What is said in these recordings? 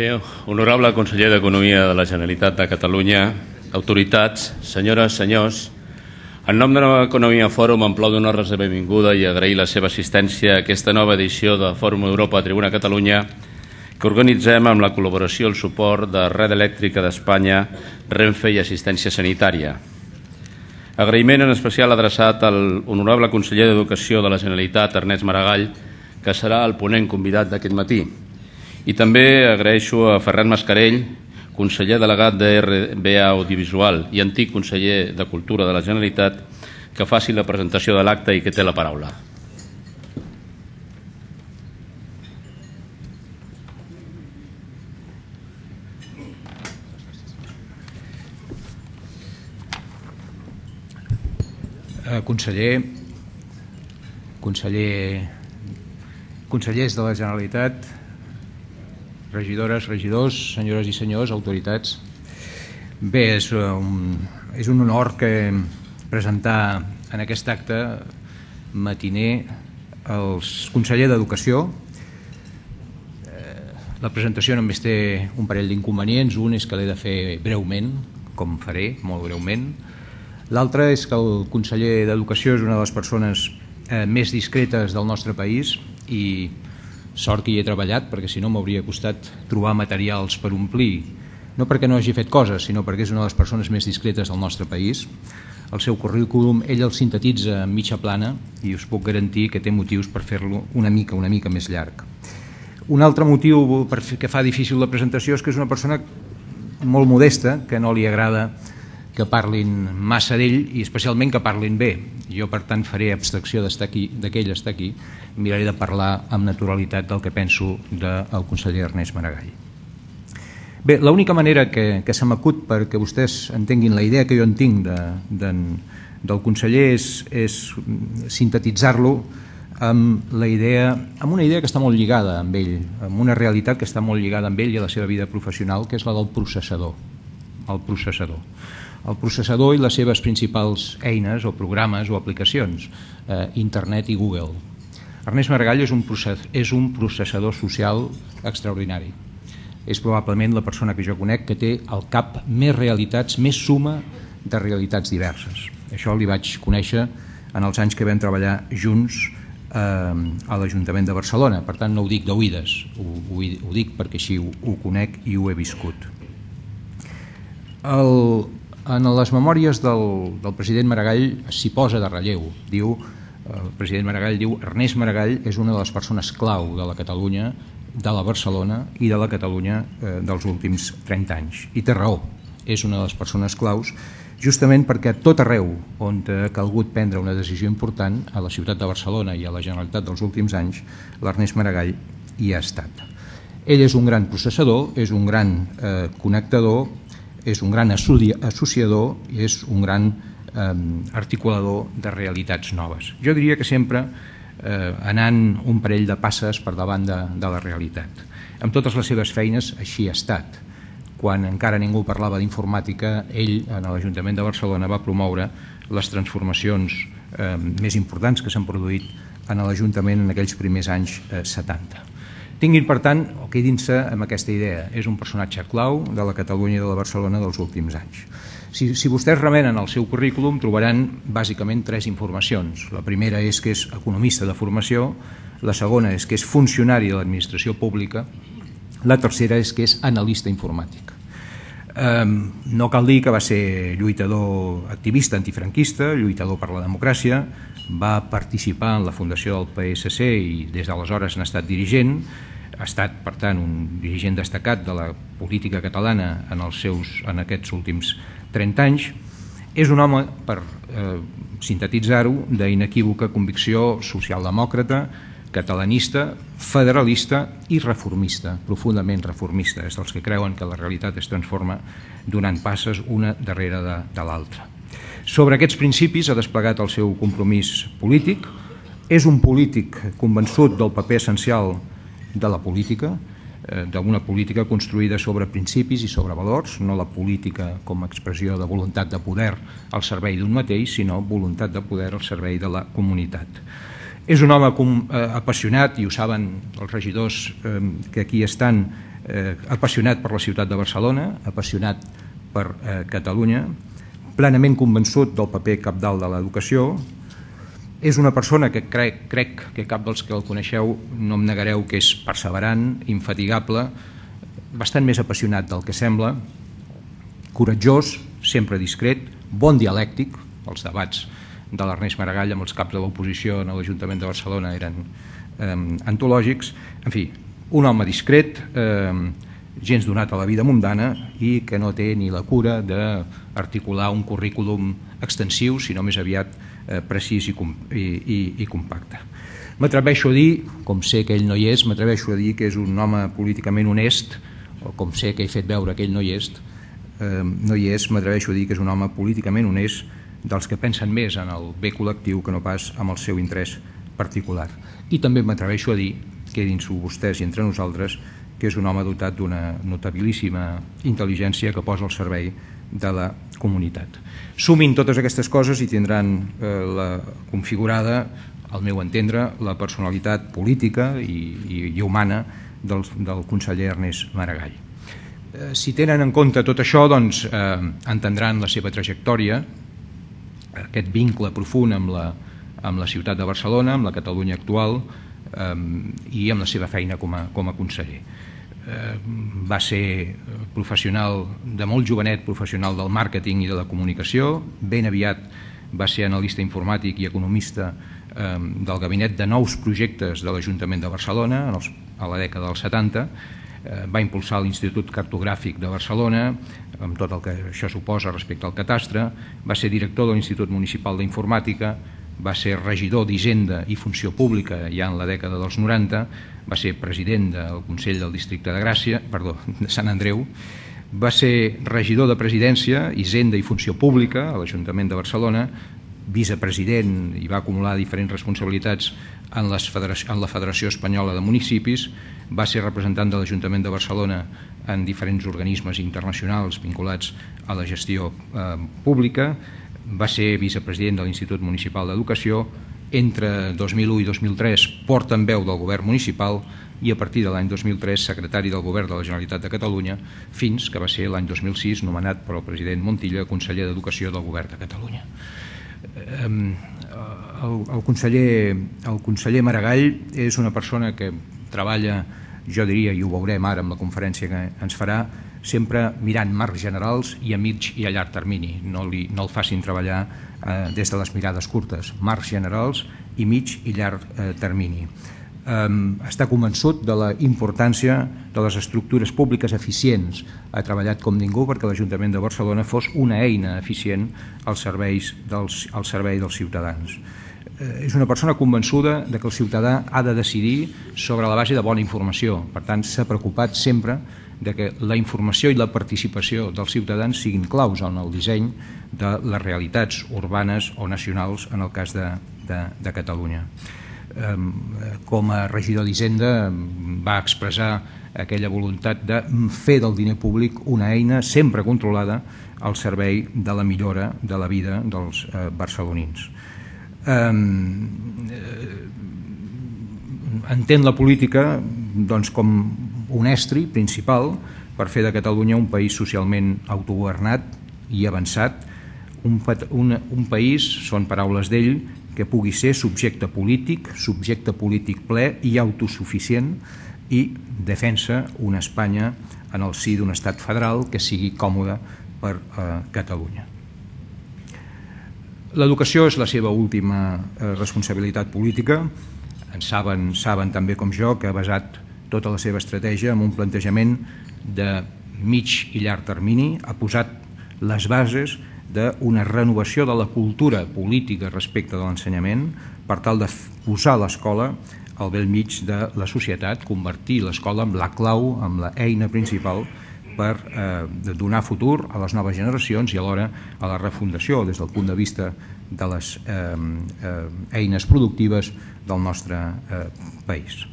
Bé, honorable conseller d'Economia de la Generalitat de Catalunya, autoritats, senyores, senyors, en nom de Nova Economia Fòrum em plau donar-los la benvinguda i agrair la seva assistència a aquesta nova edició de Fòrum Europa Tribuna Catalunya que organitzem amb la col·laboració i el suport de Red Elèctrica d'Espanya, Renfe i Assistència Sanitària. Agraïment en especial adreçat al honorable conseller d'Educació de la Generalitat, Ernest Maragall, que serà el ponent convidat d'aquest matí. I també agraeixo a Ferran Mascarell, conseller delegat de RBA Audiovisual i antic conseller de Cultura de la Generalitat, que faci la presentació de l'acte i que té la paraula. Consellers de la Generalitat, regidores, regidors, senyores i senyors, autoritats. Bé, és un honor presentar en aquest acte matiner el conseller d'Educació. La presentació només té un parell d'inconvenients. Un és que l'he de fer breument, com faré, molt breument. L'altre és que el conseller d'Educació és una de les persones més discretes del nostre país i sort que hi he treballat, perquè si no m'hauria costat trobar materials per omplir, no perquè no hagi fet coses, sinó perquè és una de les persones més discretes del nostre país. El seu currículum ell el sintetitza en mitja plana i us puc garantir que té motius per fer-lo una mica més llarg. Un altre motiu que fa difícil la presentació és que és una persona molt modesta, que no li agrada que parlin massa d'ell i especialment que parlin bé. Jo, per tant, faré abstracció que ell està aquí, miraré de parlar amb naturalitat del que penso del conseller Ernest Maragall. Bé, l'única manera que se m'acut perquè vostès entenguin la idea que jo en tinc del conseller és sintetitzar-lo amb una idea que està molt lligada amb ell, amb una realitat que està molt lligada amb ell i a la seva vida professional, que és la del processador. El processador i les seves principals eines o programes o aplicacions, internet i Google. Ernest Maragall és un processador social extraordinari. És probablement la persona que jo conec que té al cap més realitats, més suma de realitats diverses. Això li vaig conèixer en els anys que vam treballar junts a l'Ajuntament de Barcelona. Per tant, no ho dic d'oïdes, ho dic perquè així ho conec i ho he viscut. En les memòries del president Maragall s'hi posa de relleu. El president Maragall diu: Ernest Maragall és una de les persones clau de la Catalunya, de la Barcelona i de la Catalunya dels últims 30 anys. I té raó, és una de les persones claus, justament perquè a tot arreu on ha calgut prendre una decisió important, a la ciutat de Barcelona i a la Generalitat dels últims anys, l'Ernest Maragall hi ha estat. Ell és un gran processador, és un gran connectador, és un gran associador i és un gran articulador de realitats noves. Jo diria que sempre anant un parell de passes per davant de la realitat. Amb totes les seves feines així ha estat. Quan encara ningú parlava d'informàtica, ell, en l'Ajuntament de Barcelona, va promoure les transformacions més importants que s'han produït en l'Ajuntament en aquells primers anys 70. Tinguin, per tant, o quedin-se amb aquesta idea. És un personatge clau de la Catalunya i de la Barcelona dels últims anys. Si vostès remenen el seu currículum, trobaran bàsicament 3 informacions. La primera és que és economista de formació, la segona és que és funcionari de l'administració pública, la tercera és que és analista informàtic. No cal dir que va ser lluitador activista antifranquista, lluitador per la democràcia, va participar en la fundació del PSC i des d'aleshores n'ha estat dirigent, ha estat, per tant, un dirigent destacat de la política catalana en aquests últims 30 anys. És un home, per sintetitzar-ho, d'inequívoca convicció socialdemòcrata, catalanista, federalista i reformista, profundament reformista. És dels que creuen que la realitat es transforma donant passes una darrere de l'altra. Sobre aquests principis ha desplegat el seu compromís polític. És un polític convençut del paper essencial de la política, d'una política construïda sobre principis i sobre valors, no la política com a expressió de voluntat de poder al servei d'un mateix, sinó voluntat de poder al servei de la comunitat. És un home apassionat, i ho saben els regidors que aquí estan, apassionat per la ciutat de Barcelona, apassionat per Catalunya, plenament convençut del paper cabdal de l'educació. És una persona que crec que cap dels que el coneixeu no em negareu que és perseverant, infatigable, bastant més apassionat del que sembla, coratjós, sempre discret, bon dialèctic. Els debats de l'Ernest Maragall amb els caps de l'oposició en l'Ajuntament de Barcelona eren antològics. En fi, un home discret, gens donat a la vida mundana i que no té ni la cura d'articular un currículum extensiu, sinó més aviat precís i compacte. M'atreveixo a dir, com sé que ell no hi és, m'atreveixo a dir que és un home políticament honest, o com sé que he fet veure que ell no hi és, m'atreveixo a dir que és un home políticament honest, dels que pensen més en el bé col·lectiu que no pas en el seu interès particular. I també m'atreveixo a dir, quedin-s'ho vostès i entre nosaltres, que és un home dotat d'una notabilíssima intel·ligència que posa al servei de la comunitat. Sumin totes aquestes coses i tindran configurada, al meu entendre, la personalitat política i humana del conseller Ernest Maragall. Si tenen en compte tot això, doncs entendran la seva trajectòria, aquest vincle profund amb la ciutat de Barcelona, amb la Catalunya actual i amb la seva feina com a conseller. Va ser professional, de molt jovenet, professional del màrqueting i de la comunicació. Ben aviat va ser analista informàtic i economista del gabinet de nous projectes de l'Ajuntament de Barcelona a la dècada dels 70. Va impulsar l'Institut Cartogràfic de Barcelona, amb tot el que això suposa respecte al catastre. Va ser director de l'Institut Municipal d'Informàtica, va ser regidor d'Hisenda i Funció Pública ja en la dècada dels 90, va ser president del Consell del Districte de Sant Andreu, va ser regidor de Presidència, Hisenda i Funció Pública a l'Ajuntament de Barcelona, vicepresident i va acumular diferents responsabilitats en la Federació Espanyola de Municipis, va ser representant de l'Ajuntament de Barcelona en diferents organismes internacionals vinculats a la gestió pública, va ser vicepresident de l'Institut Municipal d'Educació, entre 2001 i 2003 portaveu del govern municipal i a partir de l'any 2003 secretari del govern de la Generalitat de Catalunya, fins que va ser l'any 2006 nomenat per el president Montilla conseller d'Educació del govern de Catalunya. El conseller Maragall és una persona que treballa, jo diria, i ho veurem ara amb la conferència que ens farà, sempre mirant marcs generals i a mig i a llarg termini. No el facin treballar des de les mirades curtes, marcs generals i mig i llarg termini. Està convençut de la importància de les estructures públiques eficients. Ha treballat com ningú perquè l'Ajuntament de Barcelona fos una eina eficient al servei dels ciutadans. És una persona convençuda que el ciutadà ha de decidir sobre la base de bona informació. Per tant, s'ha preocupat sempre que la informació i la participació dels ciutadans siguin claus en el disseny de les realitats urbanes o nacionals en el cas de Catalunya. Com a regidor d'Hisenda va expressar aquella voluntat de fer del diner públic una eina sempre controlada al servei de la millora de la vida dels barcelonins. Entén la política com un estri principal per fer de Catalunya un país socialment autogovernat i avançat, un país, són paraules d'ell, que pugui ser subjecte polític ple i autosuficient i defensa una Espanya en el si d'un estat federal que sigui còmode per Catalunya. L'educació és la seva última responsabilitat política. Saben també com jo que ha basat tota la seva estratègia en un plantejament de mig i llarg termini, ha posat les bases d'una renovació de la cultura política respecte de l'ensenyament per tal de posar l'escola al bell mig de la societat, convertir l'escola en la clau, en l'eina principal per donar futur a les noves generacions i alhora a la refundació des del punt de vista de les eines productives del nostre país.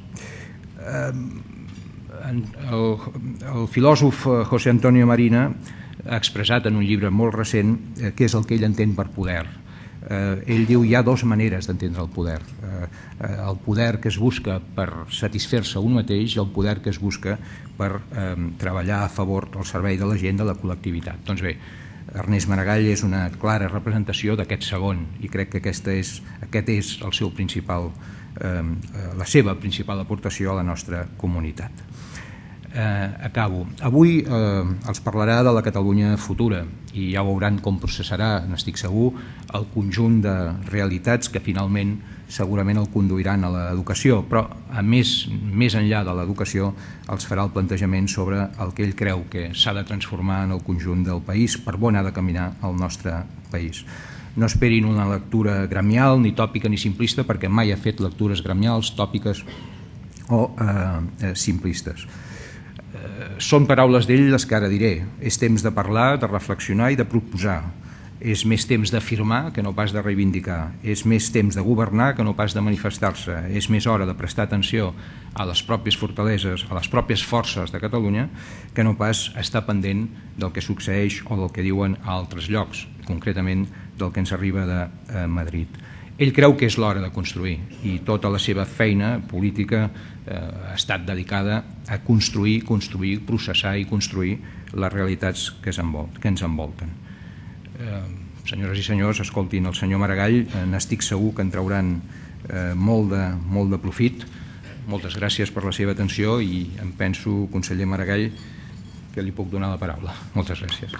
El filòsof José Antonio Marina ha expressat en un llibre molt recent què és el que ell entén per poder. Ell diu hi ha dues maneres d'entendre el poder. el poder que es busca per satisfer-se un mateix i el poder que es busca per treballar a favor del servei de la gent, de la col·lectivitat. Doncs bé, Ernest Maragall és una clara representació d'aquest segon i crec que aquest és el seu principal, la seva principal aportació a la nostra comunitat. Acabo. Avui els parlarà de la Catalunya futura i ja veuran com processarà, n'estic segur, el conjunt de realitats que finalment segurament el conduiran a l'educació, però a més enllà de l'educació els farà el plantejament sobre el que ell creu que s'ha de transformar en el conjunt del país, per on ha de caminar el nostre país. No esperin una lectura gremial, ni tòpica ni simplista, perquè mai ha fet lectures gremials, tòpiques o simplistes. Són paraules d'ell les que ara diré. És temps de parlar, de reflexionar i de proposar. És més temps d'afirmar que no pas de reivindicar. És més temps de governar que no pas de manifestar-se. És més hora de prestar atenció a les pròpies fortaleses, a les pròpies forces de Catalunya, que no pas estar pendent del que succeeix o del que diuen a altres llocs, concretament del que ens arriba de Madrid. Ell creu que és l'hora de construir i tota la seva feina política ha estat dedicada a construir, processar i construir les realitats que ens envolten. Senyores i senyors, escoltin el senyor Maragall, n'estic segur que en trauran molt de profit. Moltes gràcies per la seva atenció i em penso, conseller Maragall, que li puc donar la paraula. Moltes gràcies.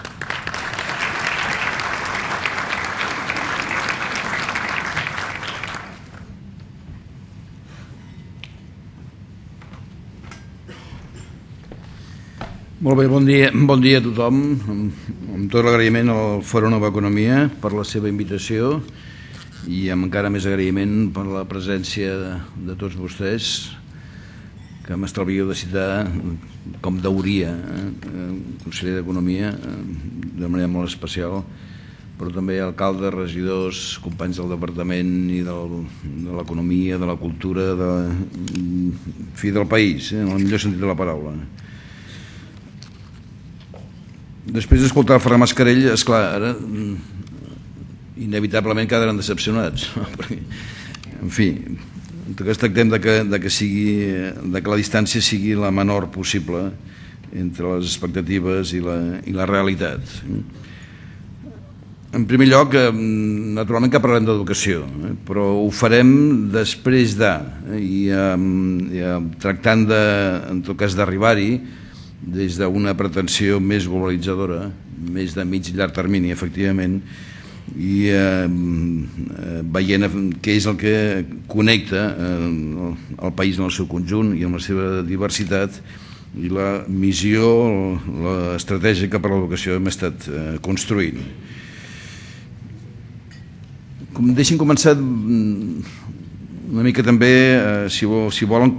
Molt bé, bon dia a tothom. Amb tot l'agraïment al Fòrum Nova Economia per la seva invitació i amb encara més agraïment per la presència de tots vostès, que m'estalvio de citar com deuria conseller d'Economia de manera molt especial, però també alcaldes, regidors, companys del departament i de l'economia, de la cultura, del país, en el millor sentit de la paraula. Després d'escoltar el Ferran Mascarell, esclar, ara inevitablement quedaran decepcionats. En fi, en tot cas tractem que la distància sigui la menor possible entre les expectatives i la realitat. En primer lloc, naturalment que parlem d'educació, però ho farem després i tractant en tot cas d'arribar-hi des d'una pretensió més globalitzadora, més de mig i llarg termini, efectivament, i veient què és el que connecta el país en el seu conjunt i en la seva diversitat i la missió, l'estratègia que per l'educació hem estat construint. Deixin començar una mica també, si volen,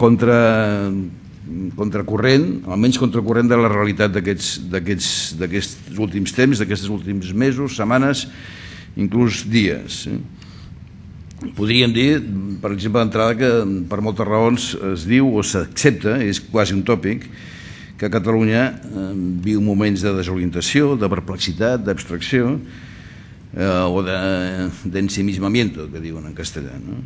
contracorrent, almenys contracorrent de la realitat d'aquests últims temps, d'aquests últims mesos, setmanes, inclús dies. Podríem dir, per exemple, d'entrada, que per moltes raons es diu o s'accepta, és quasi un tòpic, que Catalunya viu moments de desorientació, de perplexitat, d'abstracció o d'ensimismamiento, que diuen en castellà, no?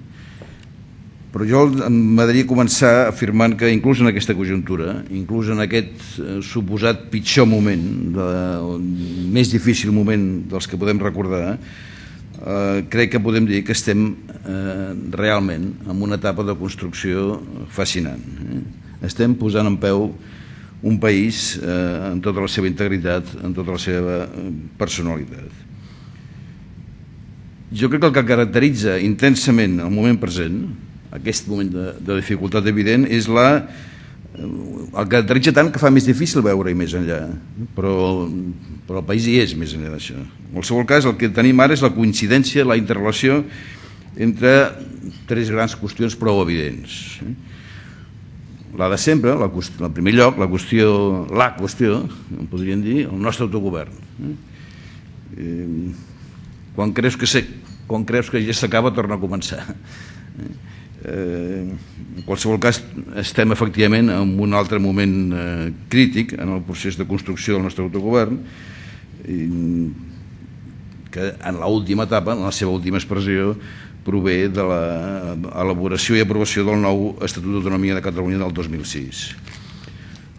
Però jo m'agradaria començar afirmant que inclús en aquesta conjuntura, inclús en aquest suposat pitjor moment, més difícil moment dels que podem recordar, crec que podem dir que estem realment en una etapa de construcció fascinant. Estem posant en peu un país en tota la seva integritat, en tota la seva personalitat. Jo crec que el que caracteritza intensament el moment present, aquest moment de dificultat evident, és el caracteritza tant que fa més difícil veure-hi més enllà, però el país hi és més enllà d'això. En qualsevol cas, el que tenim ara és la coincidència, la interrelació entre tres grans qüestions prou evidents. La de sempre, en primer lloc, la qüestió, en podríem dir, el nostre autogovern. Quan creus que ja s'acaba, torna a començar. En qualsevol cas, estem efectivament en un altre moment crític en el procés de construcció del nostre autogovern, que en l'última etapa, en la seva última expressió, prové de l'elaboració i aprovació del nou Estatut d'Autonomia de Catalunya del 2006.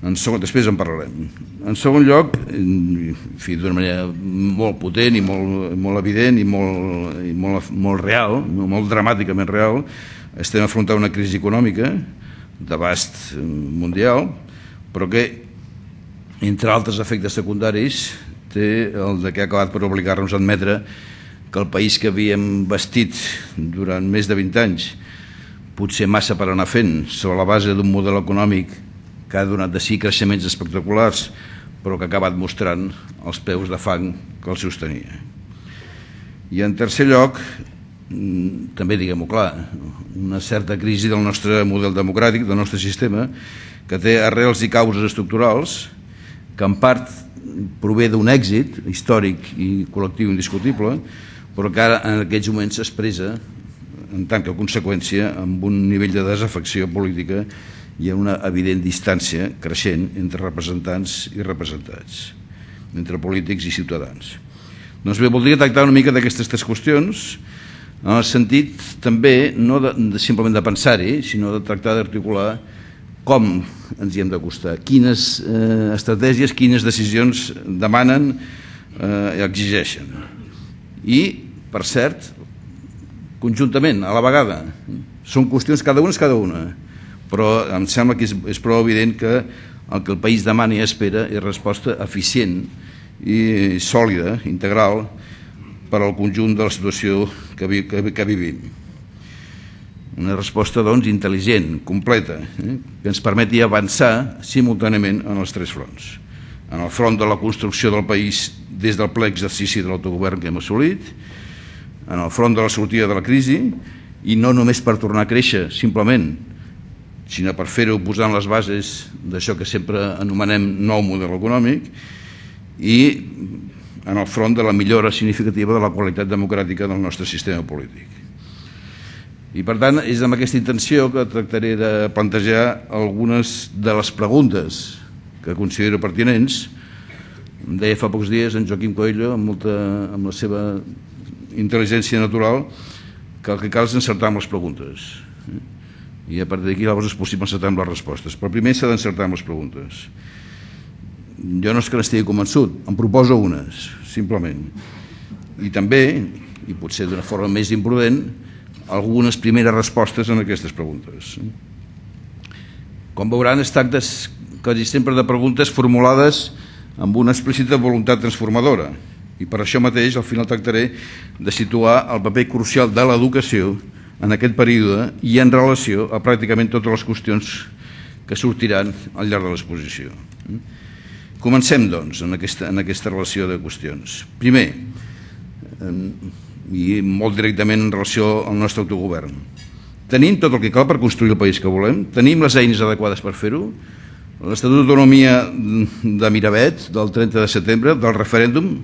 Després en parlarem. En segon lloc, d'una manera molt potent i molt evident i molt real, molt dramàticament real, estem afrontant una crisi econòmica d'abast mundial, però que, entre altres efectes secundaris, té el que ha acabat per obligar-nos a admetre que el país que havíem bastit durant més de 20 anys, potser massa per anar fent, sobre la base d'un model econòmic que ha donat de si creixements espectaculars, però que ha acabat mostrant els peus de fang que el sostenia. I en tercer lloc, també diguem-ho clar, una certa crisi del nostre model democràtic, del nostre sistema, que té arrels i causes estructurals, que en part prové d'un èxit històric i col·lectiu indiscutible, però que ara en aquests moments s'expressa en tant que conseqüència amb un nivell de desafecció política i una evident distància creixent entre representants i representats, entre polítics i ciutadans. Doncs bé, voldria tractar una mica d'aquestes tres qüestions, en el sentit també no simplement de pensar-hi, sinó de tractar d'articular com ens hi hem d'acostar, quines estratègies, quines decisions demanen i exigeixen. I, per cert, conjuntament, a la vegada. Són qüestions, cada una és cada una, però em sembla que és prou evident que el que el país demana i espera és resposta eficient i sòlida, integral, per al conjunt de la situació que vivim. Una resposta, doncs, intel·ligent, completa, que ens permeti avançar simultàniament en els tres fronts. En el front de la construcció del país des del ple exercici de l'autogovern que hem assolit, en el front de la sortida de la crisi, i no només per tornar a créixer, simplement, sinó per fer-ho posant les bases d'això que sempre anomenem nou model econòmic, i en el front de la millora significativa de la qualitat democràtica del nostre sistema polític. I per tant, és amb aquesta intenció que tractaré de plantejar algunes de les preguntes que considero pertinents. Em deia fa pocs dies en Joaquim Coelho, amb la seva intel·ligència natural, que el que cal és encertar amb les preguntes. I a partir d'aquí llavors és possible encertar amb les respostes. Però primer s'ha d'encertar amb les preguntes. Jo no és que n'estigui convençut, em proposo unes, simplement. I també, i potser d'una forma més imprudent, algunes primeres respostes en aquestes preguntes. Com veuran, es tracta quasi sempre de preguntes formulades amb una explícita voluntat transformadora, i per això mateix al final tractaré de situar el paper crucial de l'educació en aquest període i en relació a pràcticament totes les qüestions que sortiran al llarg de l'exposició. Comencem, doncs, en aquesta relació de qüestions. Primer, i molt directament en relació al nostre autogovern. Tenim tot el que cal per construir el país que volem? Tenim les eines adequades per fer-ho? L'Estatut d'Autonomia de Miravet, del 30 de setembre, del referèndum,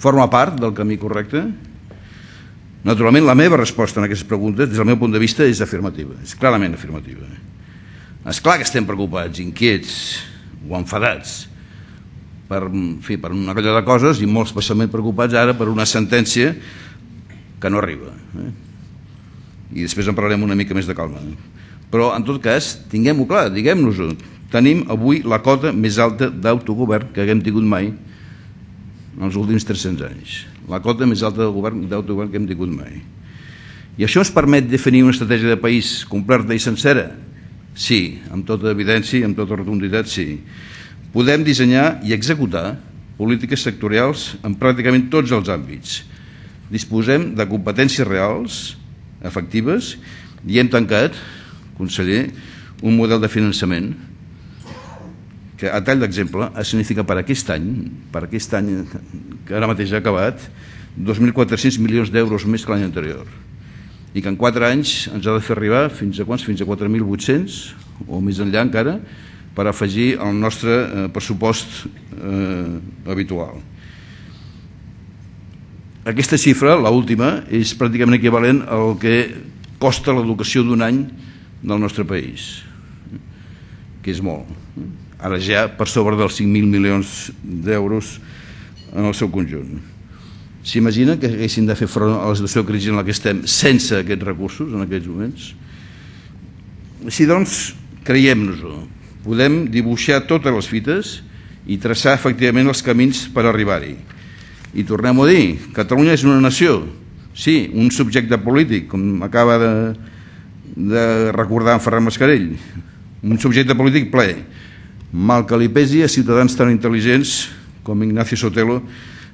forma part del camí correcte? Naturalment, la meva resposta a aquestes preguntes, des del meu punt de vista, és afirmativa, és clarament afirmativa. És clar que estem preocupats, inquiets o enfadats per una colla de coses i molt especialment preocupats ara per una sentència que no arriba. I després en parlarem una mica més de calma. Però, en tot cas, tinguem-ho clar, diguem-nos-ho. Tenim avui la cota més alta d'autogovern que haguem tingut mai en els últims 300 anys. La cota més alta d'autogovern que hem tingut mai. I això ens permet definir una estratègia de país completa i sencera? Sí, amb tota evidència i amb tota rotunditat, sí. Podem dissenyar i executar polítiques sectorials en pràcticament tots els àmbits. Disposem de competències reals, efectives, i hem tancat, conseller, un model de finançament que, a tall d'exemple, significa per aquest any que ara mateix ha acabat, 2.400 milions d'euros més que l'any anterior, i que en 4 anys ens ha de fer arribar fins a quants? Fins a 4.800 o més enllà encara, per afegir al nostre pressupost habitual. Aquesta xifra, l'última, és pràcticament equivalent al que costa l'educació d'un any del nostre país, que és molt. Ara ja per sobre dels 5.000 milions d'euros en el seu conjunt. S'imagina que haguessin de fer front a la situació de crisi en la que estem sense aquests recursos en aquests moments? Així doncs, creiem-nos-ho. Podem dibuixar totes les fites i traçar efectivament els camins per arribar-hi. I tornem a dir, Catalunya és una nació, sí, un subjecte polític, com acaba de recordar en Ferran Mascarell, un subjecte polític ple, mal que li pesi a ciutadans tan intel·ligents com Ignacio Sotelo,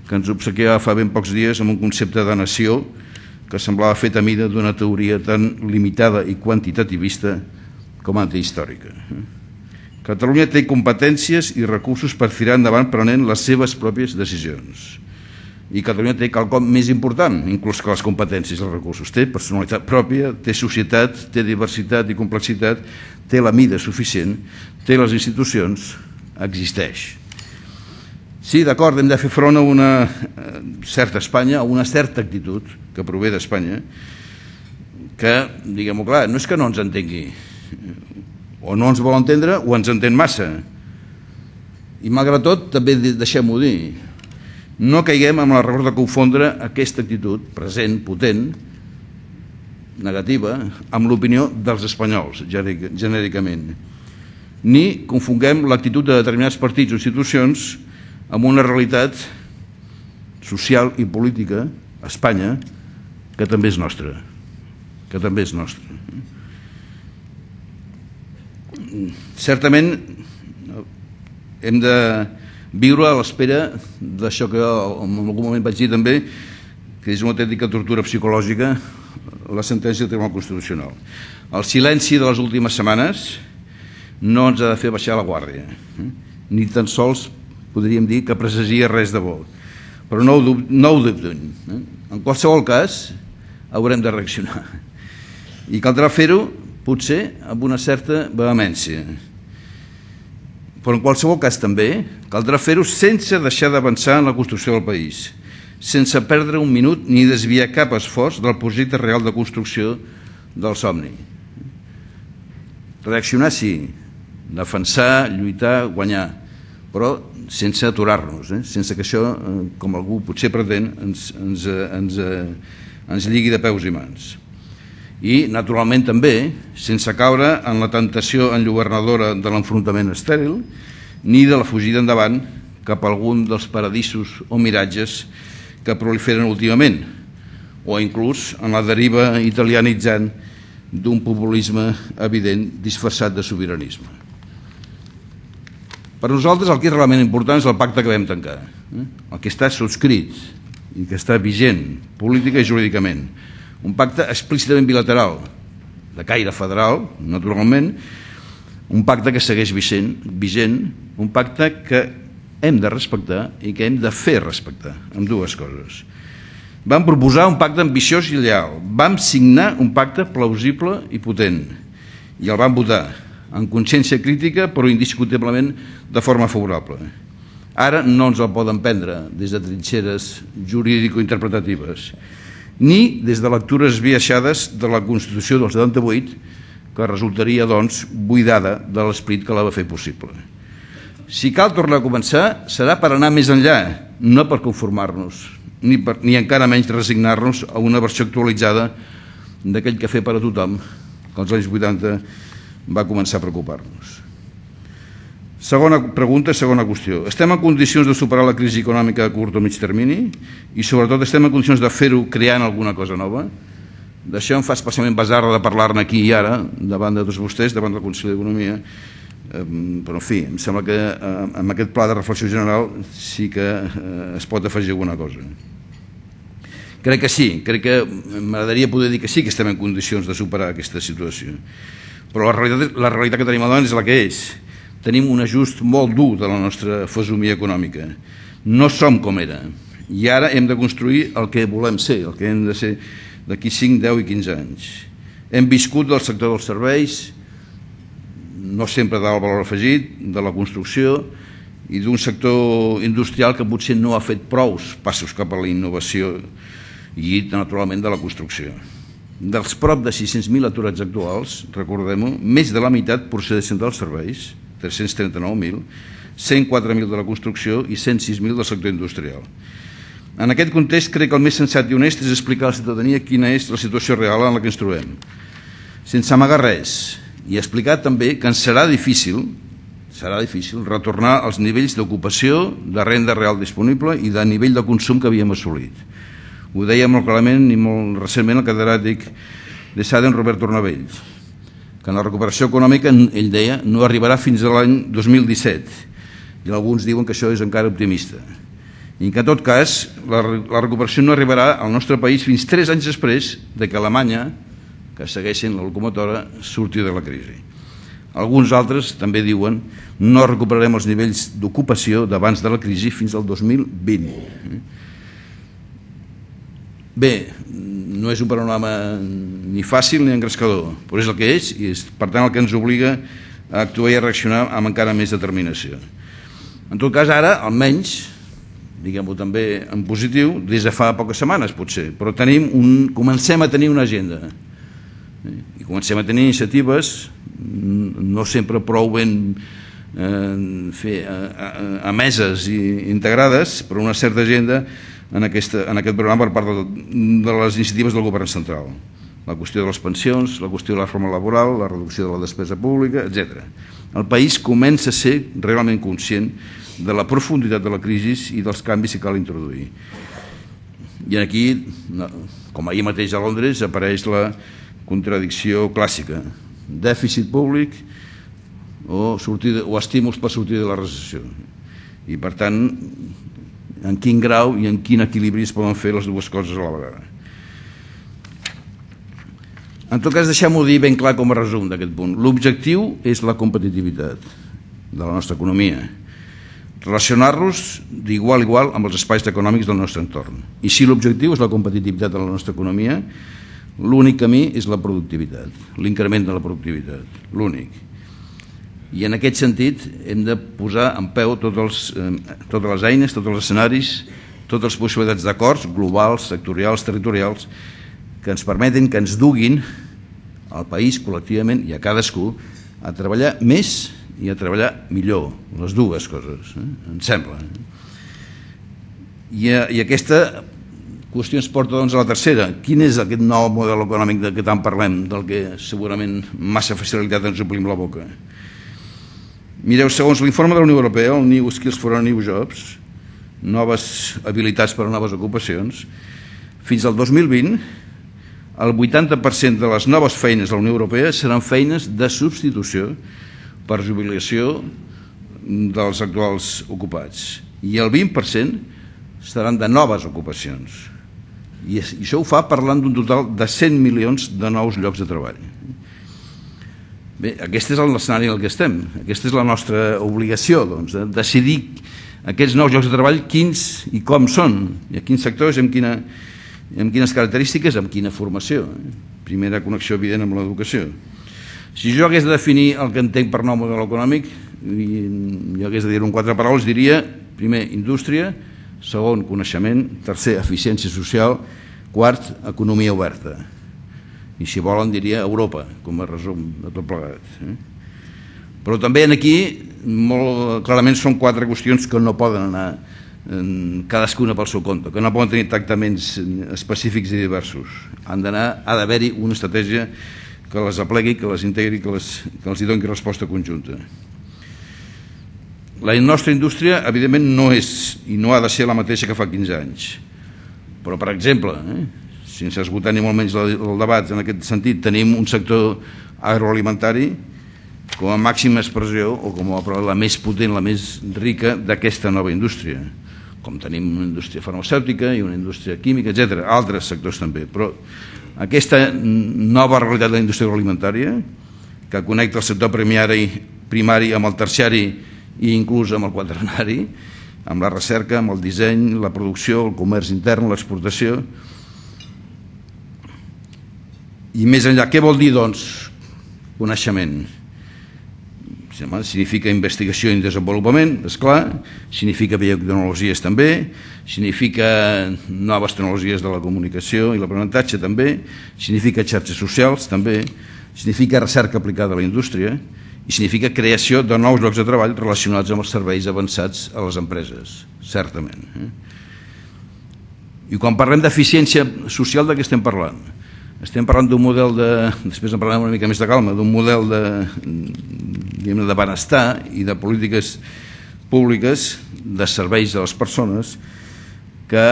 que ens obsequiava fa ben pocs dies amb un concepte de nació que semblava fet a mida d'una teoria tan limitada i quantitativista com antihistòrica. Catalunya té competències i recursos per tirar endavant prenent les seves pròpies decisions. I Catalunya té quelcom més important, inclús que les competències i els recursos. Té personalitat pròpia, té societat, té diversitat i complexitat, té la mida suficient, té les institucions, existeix. Sí, d'acord, hem de fer front a una certa Espanya, a una certa actitud que prové d'Espanya, que, diguem-ho clar, no és que no ens entengui, o no ens vol entendre o ens entén massa. I malgrat tot, també deixem-ho dir, no caiguem amb l'error de confondre aquesta actitud present, potent, negativa, amb l'opinió dels espanyols, genèricament. Ni confonguem l'actitud de determinats partits o institucions amb una realitat social i política a Espanya que també és nostra. Que també és nostra. Certament hem de viure a l'espera d'això que en algun moment vaig dir també, que és una autèntica tortura psicològica, la sentència del Tribunal Constitucional. El silenci de les últimes setmanes no ens ha de fer baixar la guàrdia, ni tan sols podríem dir que presagia res de bo, però no ho dubtem. En qualsevol cas haurem de reaccionar i caldrà fer-ho potser amb una certa vehemència, però en qualsevol cas també caldrà fer-ho sense deixar d'avançar en la construcció del país, sense perdre un minut ni desviar cap esforç del projecte real de construcció del somni. Reaccionar sí, defensar, lluitar, guanyar, però sense aturar-nos, sense que això, com algú potser pretén, ens lligui de peus i mans. I, naturalment, també, sense caure en la tentació enlluernadora de l'enfrontament estèril, ni de la fugida endavant cap a algun dels paradisos o miratges que proliferen últimament, o inclús en la deriva italianitzant d'un populisme evident disfressat de sobiranisme. Per nosaltres el que és realment important és el pacte que vam tancar, el que està subscrit i que està vigent política i jurídicament. Un pacte explícitament bilateral, de caire federal, naturalment, un pacte que segueix vigent, un pacte que hem de respectar i que hem de fer respectar, amb dues coses. Vam proposar un pacte ambiciós i lleal, vam signar un pacte plausible i potent, i el vam votar, en consciència crítica, però indiscutiblement de forma favorable. Ara no ens el poden prendre des de trinxeres jurídico-interpretatives, ni des de lectures esbiaixades de la Constitució del 78, que resultaria, doncs, buidada de l'esperit que la va fer possible. Si cal tornar a començar, serà per anar més enllà, no per conformar-nos, ni encara menys resignar-nos a una versió actualitzada d'aquell cafè per a tothom que als anys 80 va començar a preocupar-nos. Segona pregunta, segona qüestió. Estem en condicions de superar la crisi econòmica a curt o mig termini i sobretot estem en condicions de fer-ho creant alguna cosa nova? D'això em fa especialment basar de parlar-ne aquí i ara, davant de tots vostès, davant del Consell d'Economia, però en fi, em sembla que amb aquest pla de reflexió general sí que es pot afegir alguna cosa. Crec que sí, crec que m'agradaria poder dir que sí que estem en condicions de superar aquesta situació, però la realitat que tenim al davant és la que és. Tenim un ajust molt dur de la nostra fesomia econòmica. No som com era. I ara hem de construir el que volem ser, el que hem de ser d'aquí 5, 10 i 15 anys. Hem viscut del sector dels serveis, no sempre del valor afegit, de la construcció i d'un sector industrial que potser no ha fet prous passos cap a la innovació i, naturalment, de la construcció. Dels prop de 600.000 aturats actuals, recordem-ho, més de la meitat procedeixen dels serveis, 339.000, 104.000 de la construcció i 106.000 del sector industrial. En aquest context, crec que el més sensat i honest és explicar a la ciutadania quina és la situació real en la que ens trobem, sense amagar res, i explicar també que ens serà difícil retornar als nivells d'ocupació, de renda real disponible i de nivell de consum que havíem assolit. Ho deia molt clarament i molt recentment el catedràtic de SADEN, Robert Tornavells, que en la recuperació econòmica, ell deia, no arribarà fins a l'any 2017, i alguns diuen que això és encara optimista. I que en tot cas la recuperació no arribarà al nostre país fins 3 anys després de que Alemanya, que segueixen la locomotora, surti de la crisi. Alguns altres també diuen no recuperarem els nivells d'ocupació d'abans de la crisi fins al 2020. Bé, no és un panorama ni fàcil ni engrescador, però és el que és i és per tant el que ens obliga a actuar i a reaccionar amb encara més determinació. En tot cas, ara, almenys, diguem-ho també en positiu, des de fa poques setmanes potser, però comencem a tenir una agenda i comencem a tenir iniciatives no sempre prou ben emeses i integrades, però una certa agenda en aquest programa per part de les iniciatives del govern central. La qüestió de les pensions, la qüestió de la reforma laboral, la reducció de la despesa pública, etc. El país comença a ser realment conscient de la profunditat de la crisi i dels canvis que cal introduir. I aquí, com ahir mateix a Londres, apareix la contradicció clàssica: dèficit públic o estímuls per sortir de la recessió. I per tant, en quin grau i en quin equilibri es poden fer les dues coses a la vegada. En tot cas, deixem-ho dir ben clar com a resum d'aquest punt. L'objectiu és la competitivitat de la nostra economia, relacionar-nos d'igual a igual amb els espais econòmics del nostre entorn. I si l'objectiu és la competitivitat de la nostra economia, l'únic camí és la productivitat, l'increment de la productivitat, l'únic. I en aquest sentit hem de posar en peu totes les eines, tots els escenaris, totes les possibilitats d'acords globals, sectorials, territorials, que ens permeten, que ens duguin al país col·lectivament i a cadascú a treballar més i a treballar millor, les dues coses, em sembla. I aquesta qüestió ens porta doncs a la tercera. Quin és aquest nou model econòmic de què tant parlem, del que segurament massa facilitat ens omplim la boca? Mireu, segons l'informe de la Unió Europea, el New Skills for New Jobs, noves habilitats per a noves ocupacions, fins al 2020 el 80% de les noves feines de la Unió Europea seran feines de substitució per jubilació dels actuals ocupats, i el 20% seran de noves ocupacions. I això ho fa parlant d'un total de 100 milions de nous llocs de treball. Bé, aquest és l'escenari en què estem. Aquesta és la nostra obligació, doncs, de decidir aquests nous llocs de treball quins i com són, i a quins sectors, amb quines característiques, amb quina formació. Primera connexió evident amb l'educació. Si jo hagués de definir el que entenc per nou model econòmic, i jo hagués de dir-ho en 4 paraules, diria, primer, indústria; segon, coneixement; tercer, eficiència social; quart, economia oberta. I si volen diria Europa, com a resum de tot plegat. Però també aquí, molt clarament, són 4 qüestions que no poden anar cadascuna pel seu compte, que no poden tenir tractaments específics i diversos. Ha d'haver-hi una estratègia que les aplegui, que les integri, que els hi doni resposta conjunta. La nostra indústria, evidentment, no és i no ha de ser la mateixa que fa 15 anys. Però, per exemple, sense esgotar ni molt menys el debat en aquest sentit, tenim un sector agroalimentari com a màxima expressió o com a la més potent, la més rica d'aquesta nova indústria. Com tenim una indústria farmacèutica i una indústria química, etc. Altres sectors també. Però aquesta nova realitat de la indústria agroalimentària, que connecta el sector primari amb el terciari i inclús amb el quaternari, amb la recerca, amb el disseny, la producció, el comerç intern, l'exportació. I més enllà, què vol dir, doncs, coneixement? Significa investigació i desenvolupament, esclar, significa biotecnologies també, significa noves tecnologies de la comunicació i l'aprenentatge també, significa xarxes socials també, significa recerca aplicada a la indústria i significa creació de nous llocs de treball relacionats amb els serveis avançats a les empreses, certament. I quan parlem d'eficiència social, de què estem parlant? Estem parlant d'un model després en parlarem una mica més de calma, d'un model de benestar i de polítiques públiques de serveis a les persones que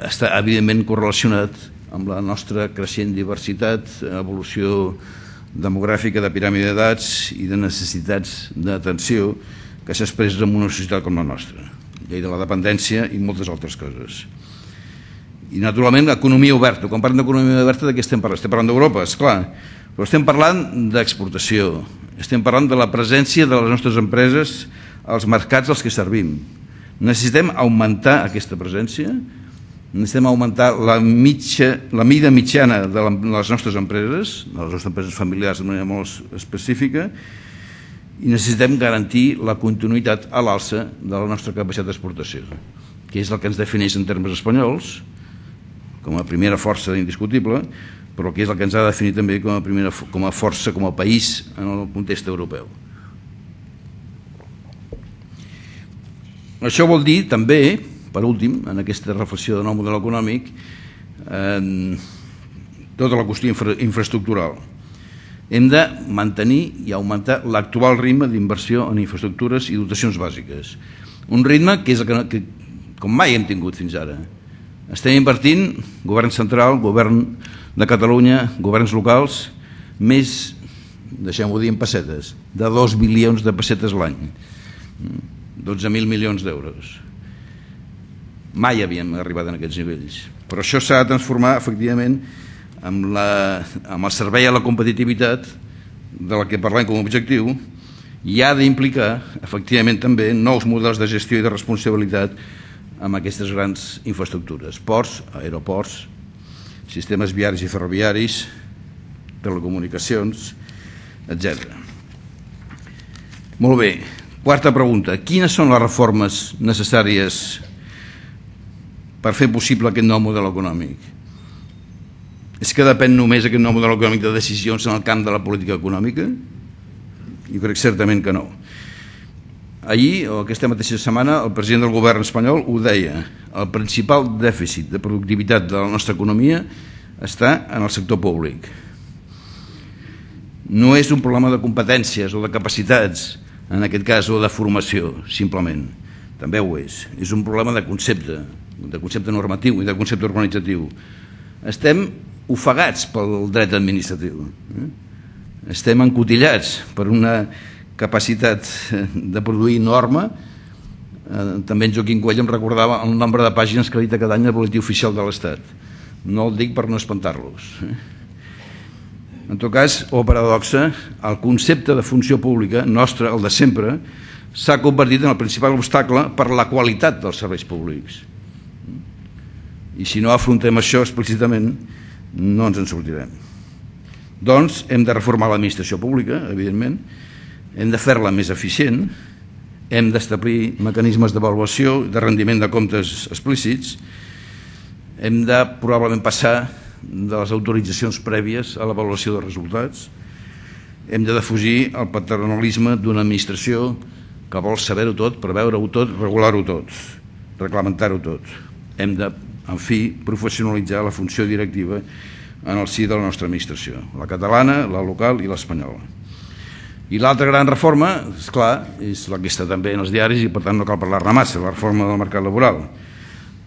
està evidentment correlacionat amb la nostra creixent diversitat, evolució demogràfica de piràmide d'edats i de necessitats d'atenció que s'expressa en una societat com la nostra, llei de la dependència i moltes altres coses. I naturalment economia oberta. Quan parlem d'economia oberta, de què estem parlant? Estem parlant d'Europa, esclar, però estem parlant d'exportació, estem parlant de la presència de les nostres empreses als mercats als que servim. Necessitem augmentar aquesta presència, necessitem augmentar la mida mitjana de les nostres empreses familiars de manera molt específica, i necessitem garantir la continuïtat a l'alça de la nostra capacitat d'exportació, que és el que ens defineix en termes espanyols, com a primera força indiscutible, però que és el que ens ha de definir també com a força, com a país en el context europeu. Això vol dir també, per últim, en aquesta reflexió de nou model econòmic, tota la qüestió infraestructural. Hem de mantenir i augmentar l'actual ritme d'inversió en infraestructures i dotacions bàsiques. Un ritme que és el que com mai hem tingut fins ara. Estem invertint, govern central, govern de Catalunya, governs locals, més, deixem-ho dir en pessetes, de 2 bilions de pessetes l'any, 12.000 milions d'euros. Mai havíem arribat a aquests nivells, però això s'ha de transformar efectivament amb el servei a la competitivitat de la que parlem com a objectiu, i ha d'implicar efectivament també nous models de gestió i de responsabilitat amb aquestes grans infraestructures, ports, aeroports, sistemes viaris i ferroviaris, telecomunicacions, etc. Molt bé, quarta pregunta. Quines són les reformes necessàries per fer possible aquest nou model econòmic? És que depèn només aquest nou model econòmic de decisions en el camp de la política econòmica? Jo crec certament que no. Ahir, o aquesta mateixa setmana, el president del govern espanyol ho deia: el principal dèficit de productivitat de la nostra economia està en el sector públic. No és un problema de competències o de capacitats, en aquest cas, o de formació, simplement. També ho és. És un problema de concepte normatiu i de concepte organitzatiu. Estem ofegats pel dret administratiu. Estem encotillats per una capacitat de produir norma. També en Joaquim Coelho em recordava el nombre de pàgines que edita cada any el Boletí Oficial de l'Estat. No el dic per no espantar-los. En tot cas, o paradoxa, el concepte de funció pública nostre, el de sempre, s'ha convertit en el principal obstacle per la qualitat dels serveis públics. I si no afrontem això explícitament, no ens en sortirem. Doncs hem de reformar l'administració pública, evidentment, hem de fer-la més eficient, hem d'establir mecanismes d'avaluació, de rendiment de comptes explícits, hem de probablement passar de les autoritzacions prèvies a l'avaluació de resultats, hem de defugir el paternalisme d'una administració que vol saber-ho tot, preveure-ho tot, regular-ho tot, reglamentar-ho tot. Hem de, en fi, professionalitzar la funció directiva en el si de la nostra administració, la catalana, la local i l'espanyola. I l'altra gran reforma, esclar, és la que està també en els diaris i per tant no cal parlar-ne massa, la reforma del mercat laboral.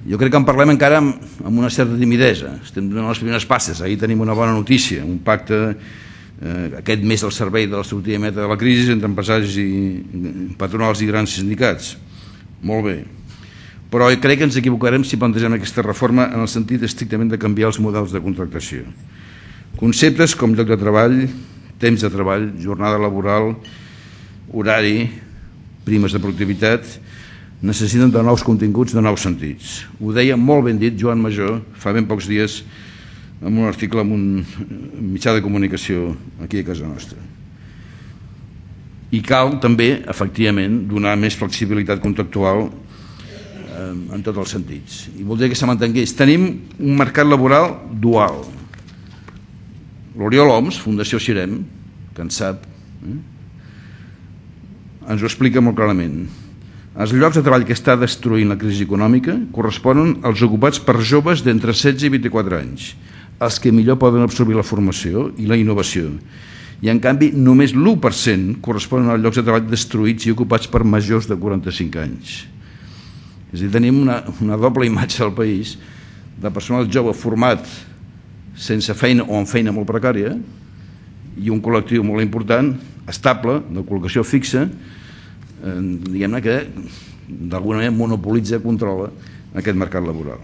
Jo crec que en parlem encara amb una certa timidesa, estem donant les primeres passes. Ahir tenim una bona notícia, un pacte aquest mes al servei de la sortida meta de la crisi entre empresaris i patronals i grans sindicats. Molt bé. Però crec que ens equivocarem si plantegem aquesta reforma en el sentit estrictament de canviar els models de contractació. Conceptes com lloc de treball, temps de treball, jornada laboral, horari, primes de productivitat, necessiten de nous continguts, de nous sentits. Ho deia molt ben dit Joan Major fa ben pocs dies en un article en un mitjà de comunicació aquí a casa nostra. I cal també, efectivament, donar més flexibilitat contractual en tots els sentits. I voldria que se m'entengués. Tenim un mercat laboral dual. L'Oriol Homs, Fundació Xirem, que en sap, ens ho explica molt clarament. Els llocs de treball que està destruint la crisi econòmica corresponen als ocupats per joves d'entre 16 i 24 anys, els que millor poden absorbir la formació i la innovació. I, en canvi, només l'1% corresponen als llocs de treball destruïts i ocupats per majors de 45 anys. És a dir, tenim una doble imatge del país de personal jove format sense feina o amb feina molt precària i un col·lectiu molt important, estable, de col·locació fixa, diguem-ne que d'alguna manera monopolitza, controla aquest mercat laboral.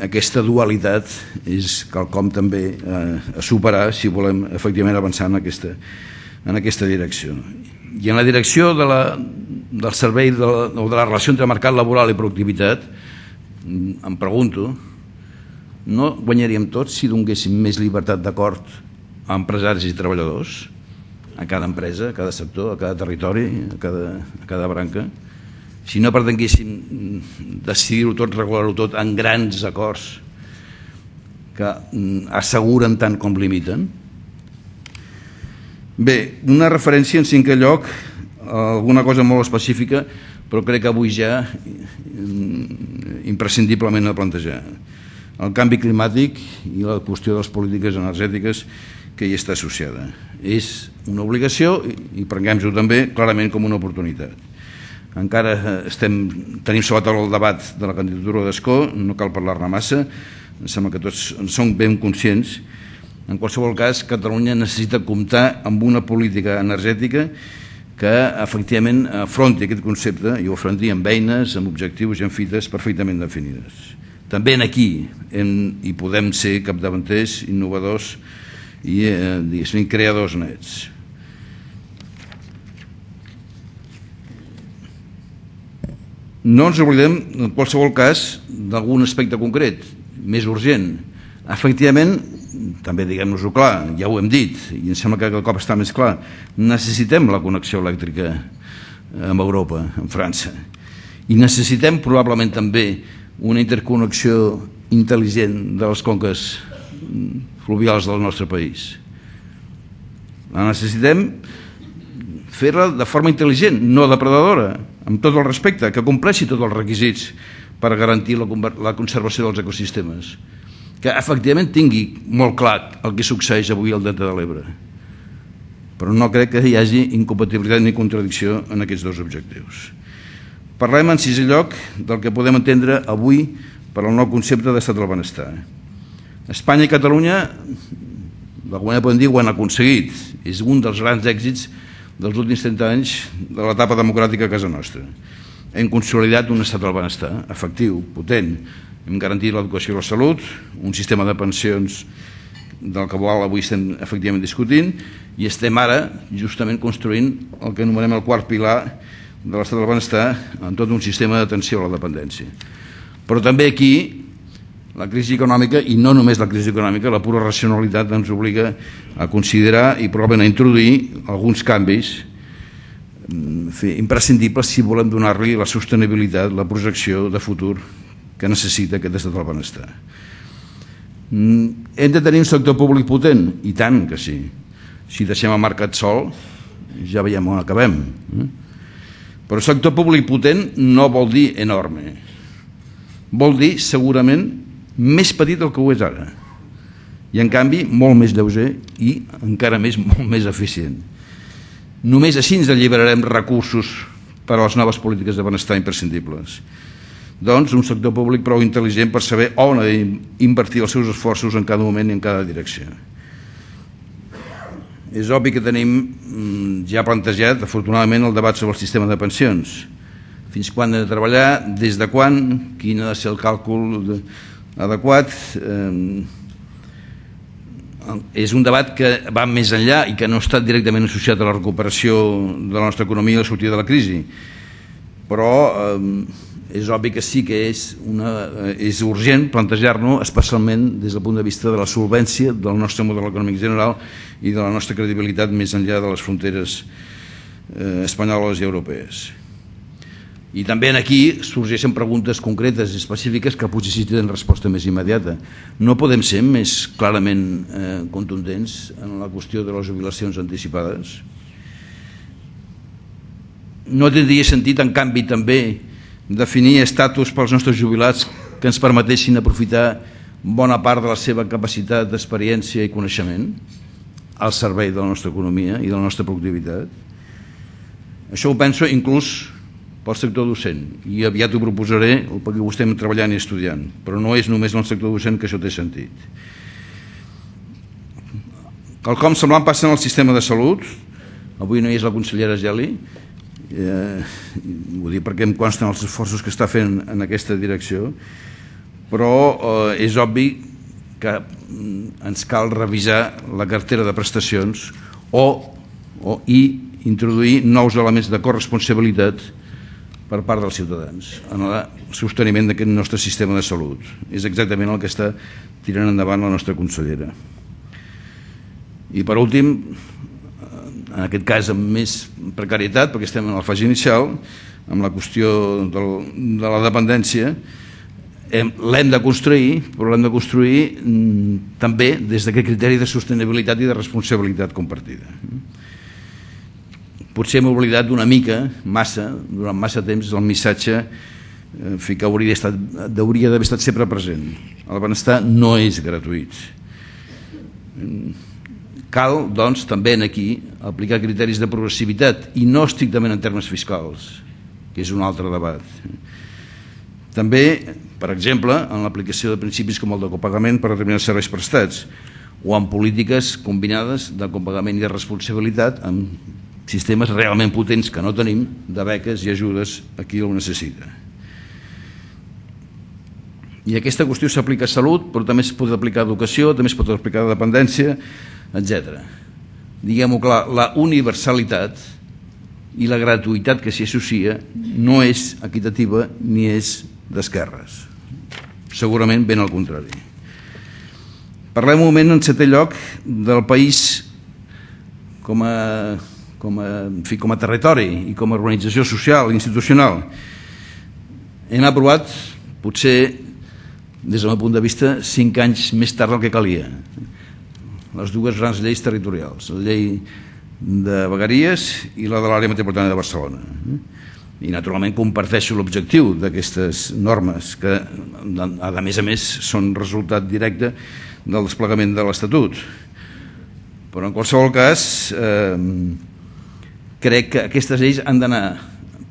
Aquesta dualitat és quelcom també a superar si volem efectivament avançar en aquesta direcció. I en la direcció del servei o de la relació entre mercat laboral i productivitat, em pregunto, no guanyaríem tots si donéssim més llibertat d'acord a empresaris i treballadors, a cada empresa, a cada sector, a cada territori, a cada branca? Si no pretenguéssim decidir-ho tot, regular-ho tot en grans acords que asseguren tant com limiten? Bé, una referència en cinquè lloc, alguna cosa molt específica, però crec que avui ja imprescindiblement a plantejar. El canvi climàtic i la qüestió de les polítiques energètiques que hi està associada. És una obligació i prenguem-ho també clarament com una oportunitat. Encara tenim sobre la taula el debat de la candidatura d'Escó, no cal parlar-ne massa, em sembla que tots en som ben conscients. En qualsevol cas, Catalunya necessita comptar amb una política energètica que efectivament afronti aquest concepte i ho afronti amb eines, amb objectius i amb fites perfectament definides. També aquí hi podem ser capdavanters, innovadors i creadors nets. No ens oblidem, en qualsevol cas, d'algun aspecte concret, més urgent. Efectivament, també diguem-nos-ho clar, ja ho hem dit, i em sembla que cada cop està més clar, necessitem la connexió elèctrica amb Europa, amb França. I necessitem probablement també una interconnexió intel·ligent de les conques fluvials del nostre país. La necessitem fer-la de forma intel·ligent, no depredadora, amb tot el respecte, que compleixi tots els requisits per garantir la conservació dels ecosistemes, que efectivament tingui molt clar el que succeeix avui al Delta de l'Ebre. Però no crec que hi hagi incompatibilitat ni contradicció en aquests dos objectius. Parlem en sisè lloc del que podem entendre avui per al nou concepte d'estat del benestar. Espanya i Catalunya, d'alguna manera podem dir, ho han aconseguit. És un dels grans èxits dels últims 30 anys de l'etapa democràtica a casa nostra. Hem consolidat un estat del benestar efectiu, potent. Hem garantit l'educació i la salut, un sistema de pensions del que avui estem efectivament discutint, i estem ara justament construint el que anomenem el quart pilar de l'estat del benestar en tot un sistema d'atenció a la dependència. Però també aquí la crisi econòmica, i no només la crisi econòmica, la pura racionalitat ens obliga a considerar i probablement a introduir alguns canvis imprescindibles si volem donar-li la sostenibilitat, la projecció de futur que necessita aquest estat del benestar. Hem de tenir un sector públic potent? I tant que sí. Si deixem el mercat sol, ja veiem on acabem. Però sector públic potent no vol dir enorme. Vol dir segurament més petit del que ho és ara. I en canvi molt més lleuger i encara molt més eficient. Només així ens alliberarem recursos per a les noves polítiques de benestar imprescindibles. Doncs un sector públic prou intel·ligent per saber on ha d'invertir els seus esforços en cada moment i en cada direcció. És obvi que tenim ja plantejat, afortunadament, el debat sobre el sistema de pensions. Fins quan hem de treballar, des de quan, quin ha de ser el càlcul adequat. És un debat que va més enllà i que no ha estat directament associat a la recuperació de la nostra economia i la sortida de la crisi. Però és obvi que sí que és urgent plantejar-nos, especialment des del punt de vista de la solvència del nostre model econòmic general i de la nostra credibilitat més enllà de les fronteres espanyoles i europees. I també aquí sorgeixen preguntes concretes i específiques que potser sí tenen resposta més immediata. No podem ser més clarament contundents en la qüestió de les jubilacions anticipades? No tindria sentit, en canvi, també definir estatus pels nostres jubilats que ens permetessin aprofitar bona part de la seva capacitat d'experiència i coneixement al servei de la nostra economia i de la nostra productivitat. Això ho penso inclús pel sector docent, i aviat ho proposaré perquè ho estem treballant i estudiant, però no és només en el sector docent que això té sentit. Quelcom semblant passa en el sistema de salut. Avui no hi és la consellera Geli, ho dic perquè em consten els esforços que està fent en aquesta direcció, però és obvi que ens cal revisar la cartera de prestacions i introduir nous elements de corresponsabilitat per part dels ciutadans en el sosteniment d'aquest nostre sistema de salut. És exactament el que està tirant endavant la nostra consellera. I per últim, en aquest cas amb més precarietat, perquè estem en la fase inicial, amb la qüestió de la dependència, l'hem de construir, però l'hem de construir també des d'aquest criteri de sostenibilitat i de responsabilitat compartida. Potser hem oblidat una mica, durant massa temps, el missatge que hauria d'haver estat sempre present. El benestar no és gratuït. Cal, doncs, també aquí aplicar criteris de progressivitat i no estrictament en termes fiscals, que és un altre debat. També, per exemple, en l'aplicació de principis com el de copagament per determinats serveis prestats o en polítiques combinades de copagament i de responsabilitat amb sistemes realment potents que no tenim de beques i ajudes a qui ho necessita. I aquesta qüestió s'aplica a salut, però també es pot aplicar a educació, també es pot aplicar a dependència, etc. Diguem-ho clar, la universalitat i la gratuïtat que s'hi associa no és equitativa ni és d'esquerres. Segurament ben al contrari. Parlem un moment, en setè lloc, del país com a territori i com a organització social i institucional. Hem aprovat, potser des del meu punt de vista, 5 anys més tard del que calia, les dues grans lleis territorials, la llei de vegueries i la de l'àrea metropolitana de Barcelona. I naturalment comparteixo l'objectiu d'aquestes normes que a més són resultat directe del desplegament de l'Estatut, però en qualsevol cas crec que aquestes lleis han d'anar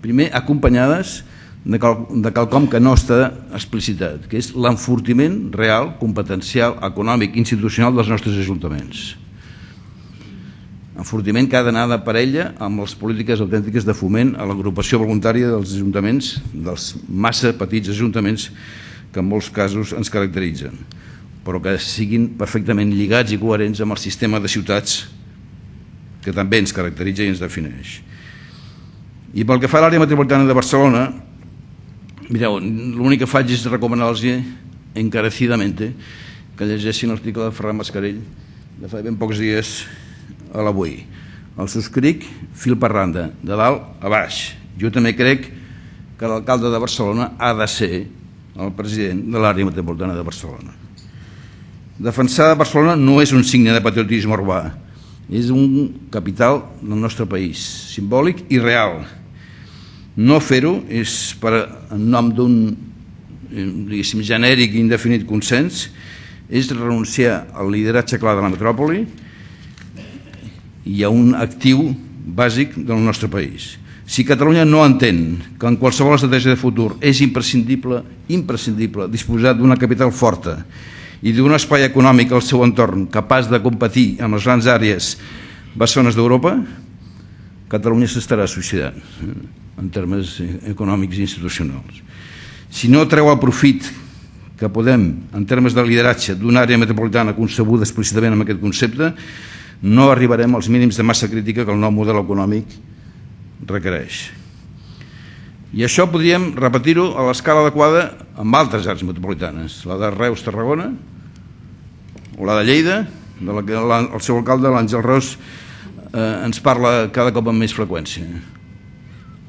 primer acompanyades de quelcom que no està explicitat, que és l'enfortiment real, competencial, econòmic, institucional dels nostres ajuntaments. Enfortiment que ha d'anar de parella amb les polítiques autèntiques de foment a l'agrupació voluntària dels ajuntaments, dels massa petits ajuntaments que en molts casos ens caracteritzen, però que siguin perfectament lligats i coherents amb el sistema de ciutats que també ens caracteritza i ens defineix. I pel que fa a l'àrea metropolitana de Barcelona, mireu, l'únic que faig és recomanar-los encarecidament que llegeixin l'article de Ferran Mascarell de fa ben pocs dies a l'Avui. El subscric fil per randa, de dalt a baix. Jo també crec que l'alcalde de Barcelona ha de ser el president de l'àrea metropolitana de Barcelona. Defensar Barcelona no és un signe de patriotisme urbà, és un capital del nostre país, simbòlic i real. No fer-ho és en nom d'un, diguéssim, genèric i indefinit consens, és renunciar al lideratge clar de la metròpoli i a un actiu bàsic del nostre país. Si Catalunya no entén que en qualsevol estratègia de futur és imprescindible disposar d'una capital forta i d'un espai econòmic al seu entorn capaç de competir amb les grans àrees bessones d'Europa, Catalunya s'estarà suïcidant en termes econòmics i institucionals. Si no treu el profit que podem, en termes de lideratge, d'una àrea metropolitana concebuda explícitament amb aquest concepte, no arribarem als mínims de massa crítica que el nou model econòmic requereix. I això podríem repetir-ho a l'escala adequada amb altres àrees metropolitanes, la de Reus-Tarragona o la de Lleida, de la que el seu alcalde, l'Àngel Ros, ens parla cada cop amb més freqüència.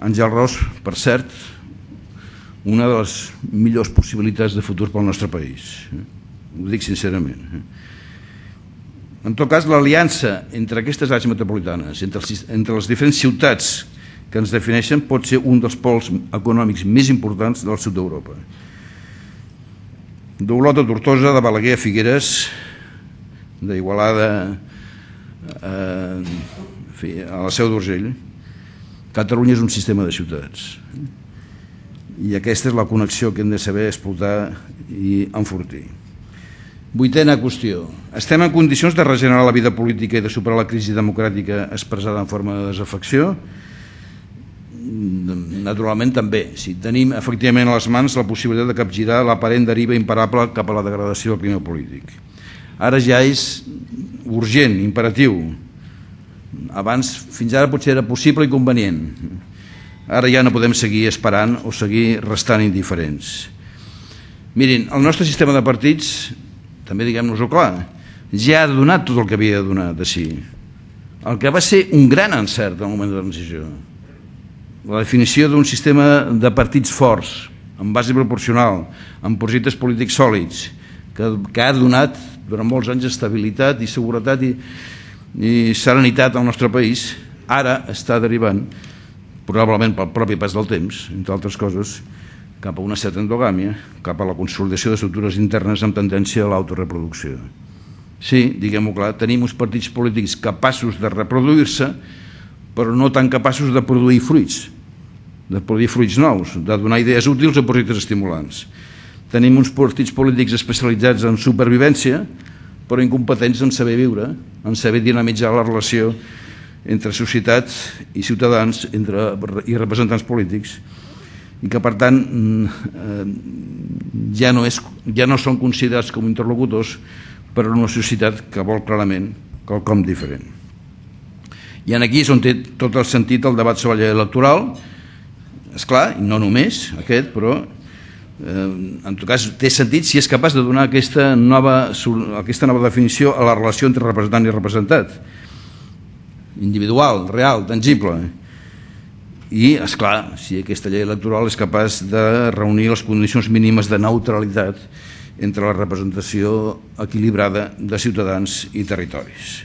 Àngel Ros, per cert, una de les millors possibilitats de futur pel nostre país. Ho dic sincerament. En tot cas, l'aliança entre aquestes àrees metropolitanes, entre les diferents ciutats que ens defineixen pot ser un dels pols econòmics més importants del sud d'Europa. d'Olot a Tortosa, de Balaguer a Figueres, d'Igualada a la Seu d'Urgell, Catalunya és un sistema de ciutats. I aquesta és la connexió que hem de saber explotar i enfortir. Vuitena qüestió. Estem en condicions de regenerar la vida política i de superar la crisi democràtica expressada en forma de desafecció? Naturalment també. Si tenim efectivament a les mans la possibilitat de capgirar l'aparent deriva imparable cap a la degradació del clima polític. Ara ja és urgent, imperatiu. Abans, fins ara potser era possible i convenient. Ara ja no podem seguir esperant o seguir restant indiferents. Mirin, el nostre sistema de partits, també diguem-nos-ho clar, ja ha donat tot el que havia de donar de si. El que va ser un gran encert al moment de la transició. La definició d'un sistema de partits forts, amb base proporcional, amb projectes polítics sòlids, que ha donat durant molts anys estabilitat i seguretat i serenitat al nostre país, ara està derivant, probablement pel propi pas del temps, entre altres coses, cap a una certa endogàmia, cap a la consolidació d'estructures internes amb tendència a l'autoreproducció. Sí, diguem-ho clar, tenim uns partits polítics capaços de reproduir-se, però no tan capaços de produir fruits nous, de donar idees útils o projectes estimulants. Tenim uns partits polítics especialitzats en supervivència, però incompetents en saber viure, en saber dinamitzar la relació entre societat i ciutadans i representants polítics, i que, per tant, ja no són considerats com interlocutors per a una societat que vol clarament quelcom diferent. I aquí és on té tot el sentit el debat sobre la llei electoral. Esclar, i no només aquest, però en tot cas té sentit si és capaç de donar aquesta nova definició a la relació entre representant i representat, individual, real, tangible. I, esclar, si aquesta llei electoral és capaç de reunir les condicions mínimes de neutralitat entre la representació equilibrada de ciutadans i territoris.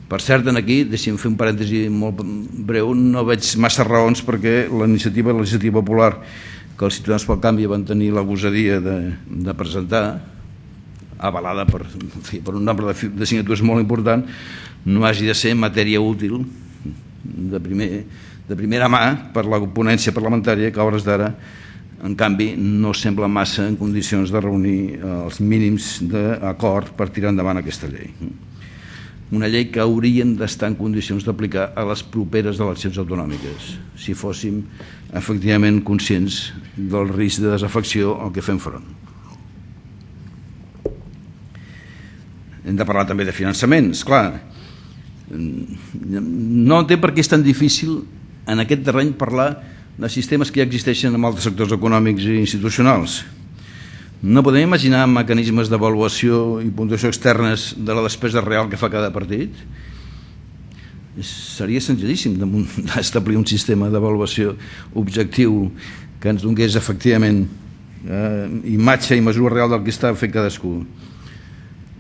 Per cert, aquí, deixi'm fer un parèntesi molt breu, no veig massa raons perquè la iniciativa legislativa popular que els Ciutadans pel Canvi van tenir la gosadia de presentar, avalada per un nombre de signatures molt important, no hagi de ser matèria útil de primera mà per la ponència parlamentària, que a hores d'ara, en canvi, no sembla massa en condicions de reunir els mínims d'acord per tirar endavant aquesta llei. Una llei que hauríem d'estar en condicions d'aplicar a les properes eleccions autonòmiques, si fóssim efectivament conscients del risc de desafecció al que fem front. Hem de parlar també de finançament, esclar. No entenc per què és tan difícil en aquest terreny parlar de sistemes que ja existeixen en altres sectors econòmics i institucionals. No podem imaginar mecanismes d'avaluació i puntuació externes de la despesa real que fa cada partit? Seria senzillíssim d'establir un sistema d'avaluació objectiu que ens donés efectivament imatge i mesura real del que està fent cadascú.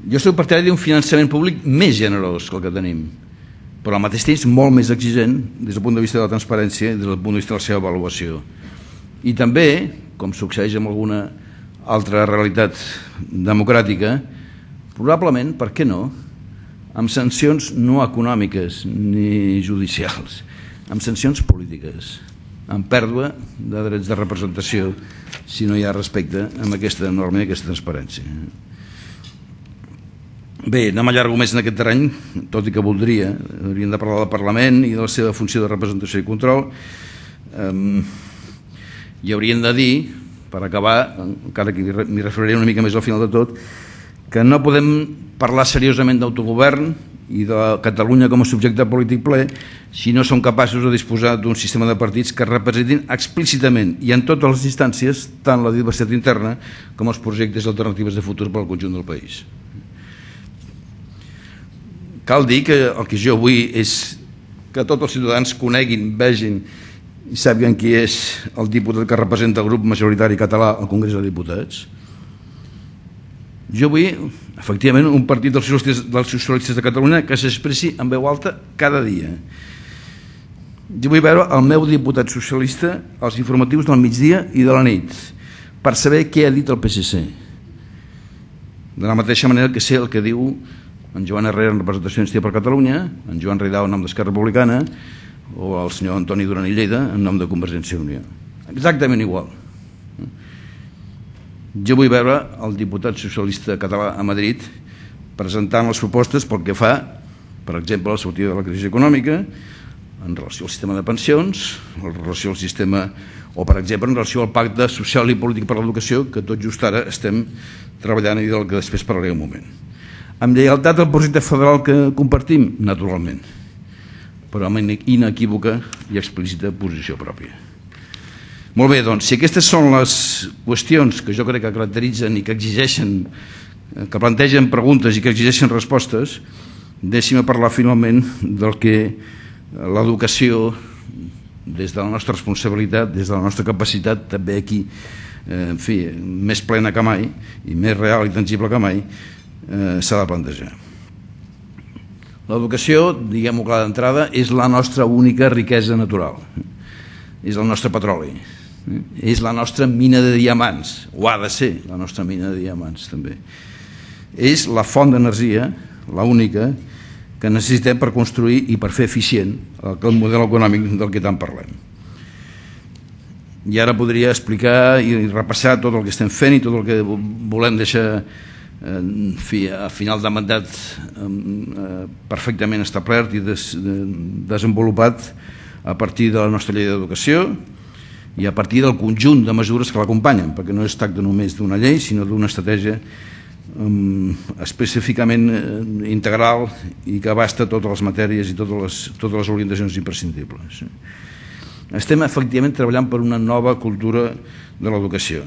Jo soc partidari d'un finançament públic més generós que el que tenim, però al mateix temps molt més exigent des del punt de vista de la transparència i des del punt de vista de la seva avaluació. I també, com succeeix amb alguna altra realitat democràtica, probablement, per què no, amb sancions no econòmiques ni judicials, amb sancions polítiques, amb pèrdua de drets de representació si no hi ha respecte amb aquesta norma i aquesta transparència. Bé, no m'allargo més en aquest terreny, tot i que voldria, hauríem de parlar del Parlament i de la seva funció de representació i control, i hauríem de dir, per acabar, encara que m'hi referiré una mica més al final de tot, que no podem parlar seriosament d'autogovern i de Catalunya com a subjecte polític ple si no som capaços de disposar d'un sistema de partits que representin explícitament i en totes les instàncies tant la diversitat interna com els projectes i alternatives de futur per al conjunt del país. Cal dir que el que jo vull és que tots els ciutadans coneguin, vegin i sàpiguen qui és el diputat que representa el grup majoritari català al Congrés dels Diputats. Jo vull, efectivament, un partit dels socialistes de Catalunya que s'expressi en veu alta cada dia Jo vull veure el meu diputat socialista als informatius del migdia i de la nit per saber què ha dit el PSC. De la mateixa manera que sé el que diu en Joan Herrera en representació d'Iniciativa per Catalunya, en Joan Ridao en nom d'Esquerra Republicana o el senyor Antoni Duran i Lleida en nom de Convergència i Unió. Exactament igual. Jo vull veure el diputat socialista català a Madrid presentant les propostes pel que fa, per exemple, a la sortida de la crisi econòmica, en relació al sistema de pensions, en relació al sistema, o per exemple en relació al pacte social i polític per l'educació, que tot just ara estem treballant i del que després parlaré un moment. Amb lleialtat al projecte federal que compartim, naturalment, però amb inequívoca i explícita posició pròpia. Molt bé, doncs, si aquestes són les qüestions que jo crec que caracteritzen i que exigeixen, que plantegen preguntes i que exigeixen respostes, deixi'm parlar finalment del que l'educació, des de la nostra responsabilitat, des de la nostra capacitat, també aquí, en fi, més plena que mai i més real i tangible que mai, s'ha de plantejar. L'educació, diguem-ho clar d'entrada, és la nostra única riquesa natural, és el nostre petroli, és la nostra mina de diamants, o ha de ser la nostra mina de diamants també. És la font d'energia, l'única, que necessitem per construir i per fer eficient el model econòmic del que tant parlem. I ara podria explicar i repassar tot el que estem fent i tot el que volem deixar a final de mandat perfectament establert i desenvolupat a partir de la nostra llei d'educació i a partir del conjunt de mesures que l'acompanyen, perquè no es tracta només d'una llei, sinó d'una estratègia específicament integral i que abasta totes les matèries i totes les orientacions imprescindibles. Estem efectivament treballant per una nova cultura de l'educació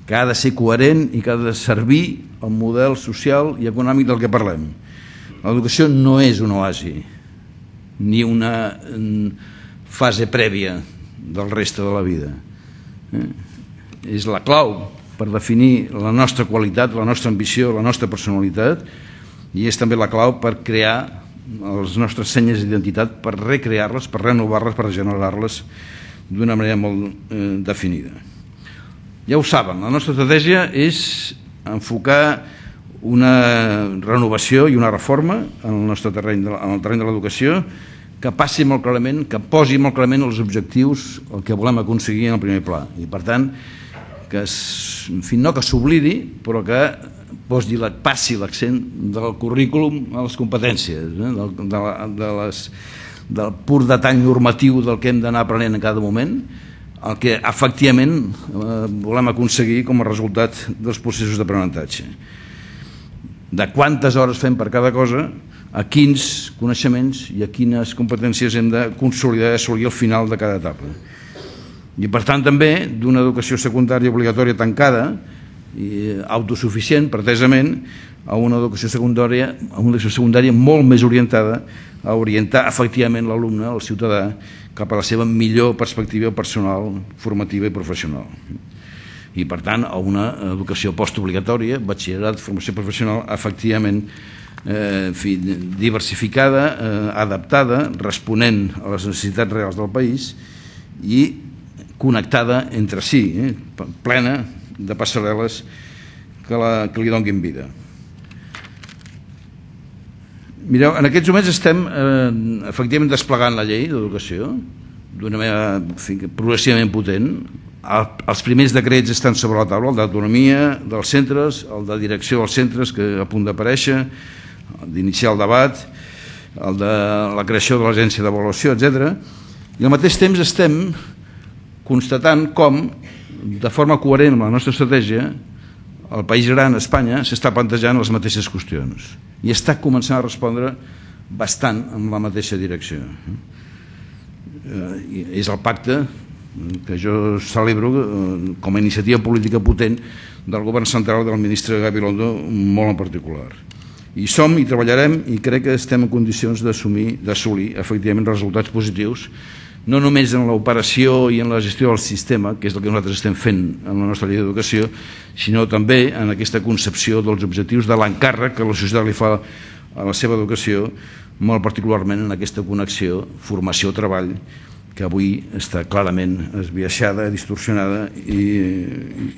que ha de ser coherent i que ha de servir al model social i econòmic del que parlem. L'educació no és un oasi ni una fase prèvia del reste de la vida. És la clau per definir la nostra qualitat, la nostra ambició, la nostra personalitat, i és també la clau per crear les nostres senyes d'identitat, per recrear-les, per renovar-les, per regenerar-les d'una manera molt definida. Ja ho saben, la nostra estratègia és enfocar una renovació i una reforma en el nostre terreny, en el terreny de l'educació, que passi molt clarament, que posi molt clarament els objectius, el que volem aconseguir en el primer pla. I per tant, que no que s'oblidi, però que passi l'accent del currículum a les competències, del pur detall normatiu del que hem d'anar aprenent en cada moment, el que efectivament volem aconseguir com a resultat dels processos d'aprenentatge. De quantes hores fem per cada cosa, a quins coneixements i a quines competències hem de consolidar i assolir al final de cada etapa. I per tant també d'una educació secundària obligatòria tancada i autosuficient pretesament a una educació secundària molt més orientada a orientar efectivament l'alumne, el ciutadà, cap a la seva millor perspectiva personal, formativa i professional. I per tant a una educació postobligatòria, batxillerat, formació professional, efectivament diversificada, adaptada, responent a les necessitats reals del país i connectada entre si, plena de passarel·les que li donguin vida. Mireu, en aquests moments estem efectivament desplegant la llei d'educació d'una manera progressivament potent. Els primers decrets estan sobre la taula, el d'autonomia dels centres, el de direcció dels centres, que a punt d'aparèixer, d'iniciar el debat, el de la creació de l'agència d'avaluació, etc. I al mateix temps estem constatant com, de forma coherent amb la nostra estratègia, el país gran, Espanya, s'està plantejant les mateixes qüestions i està començant a respondre bastant en la mateixa direcció. És el pacte que jo celebro com a iniciativa política potent del govern central del ministre Gabilondo molt en particular. I som i treballarem i crec que estem en condicions d'assolir efectivament resultats positius no només en l'operació i en la gestió del sistema, que és el que nosaltres estem fent en la nostra llei d'educació, sinó també en aquesta concepció dels objectius de l'encàrrec que la societat li fa a la seva educació molt particularment en aquesta connexió formació-treball, que avui està clarament esbiaixada, distorsionada i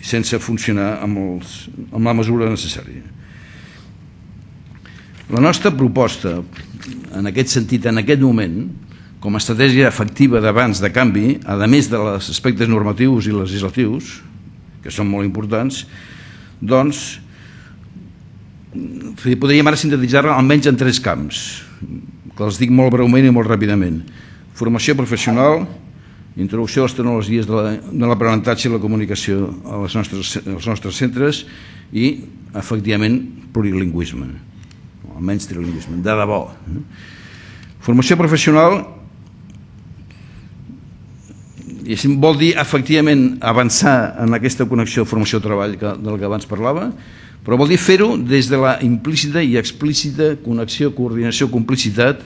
sense funcionar amb la mesura necessària. La nostra proposta, en aquest sentit, en aquest moment, com a estratègia efectiva d'abans de canvi, a més dels aspectes normatius i legislatius, que són molt importants, doncs podríem ara sintetitzar-la almenys en 3 camps, que els dic molt breument i molt ràpidament. Formació professional, introducció a les tecnologies de l'aprenentatge i la comunicació als nostres centres i, efectivament, plurilingüisme, almenys trilingüisme, de debò. Formació professional vol dir, efectivament, avançar en aquesta connexió formació-treball del que abans parlava, però vol dir fer-ho des de la implícita i explícita connexió, coordinació, complicitat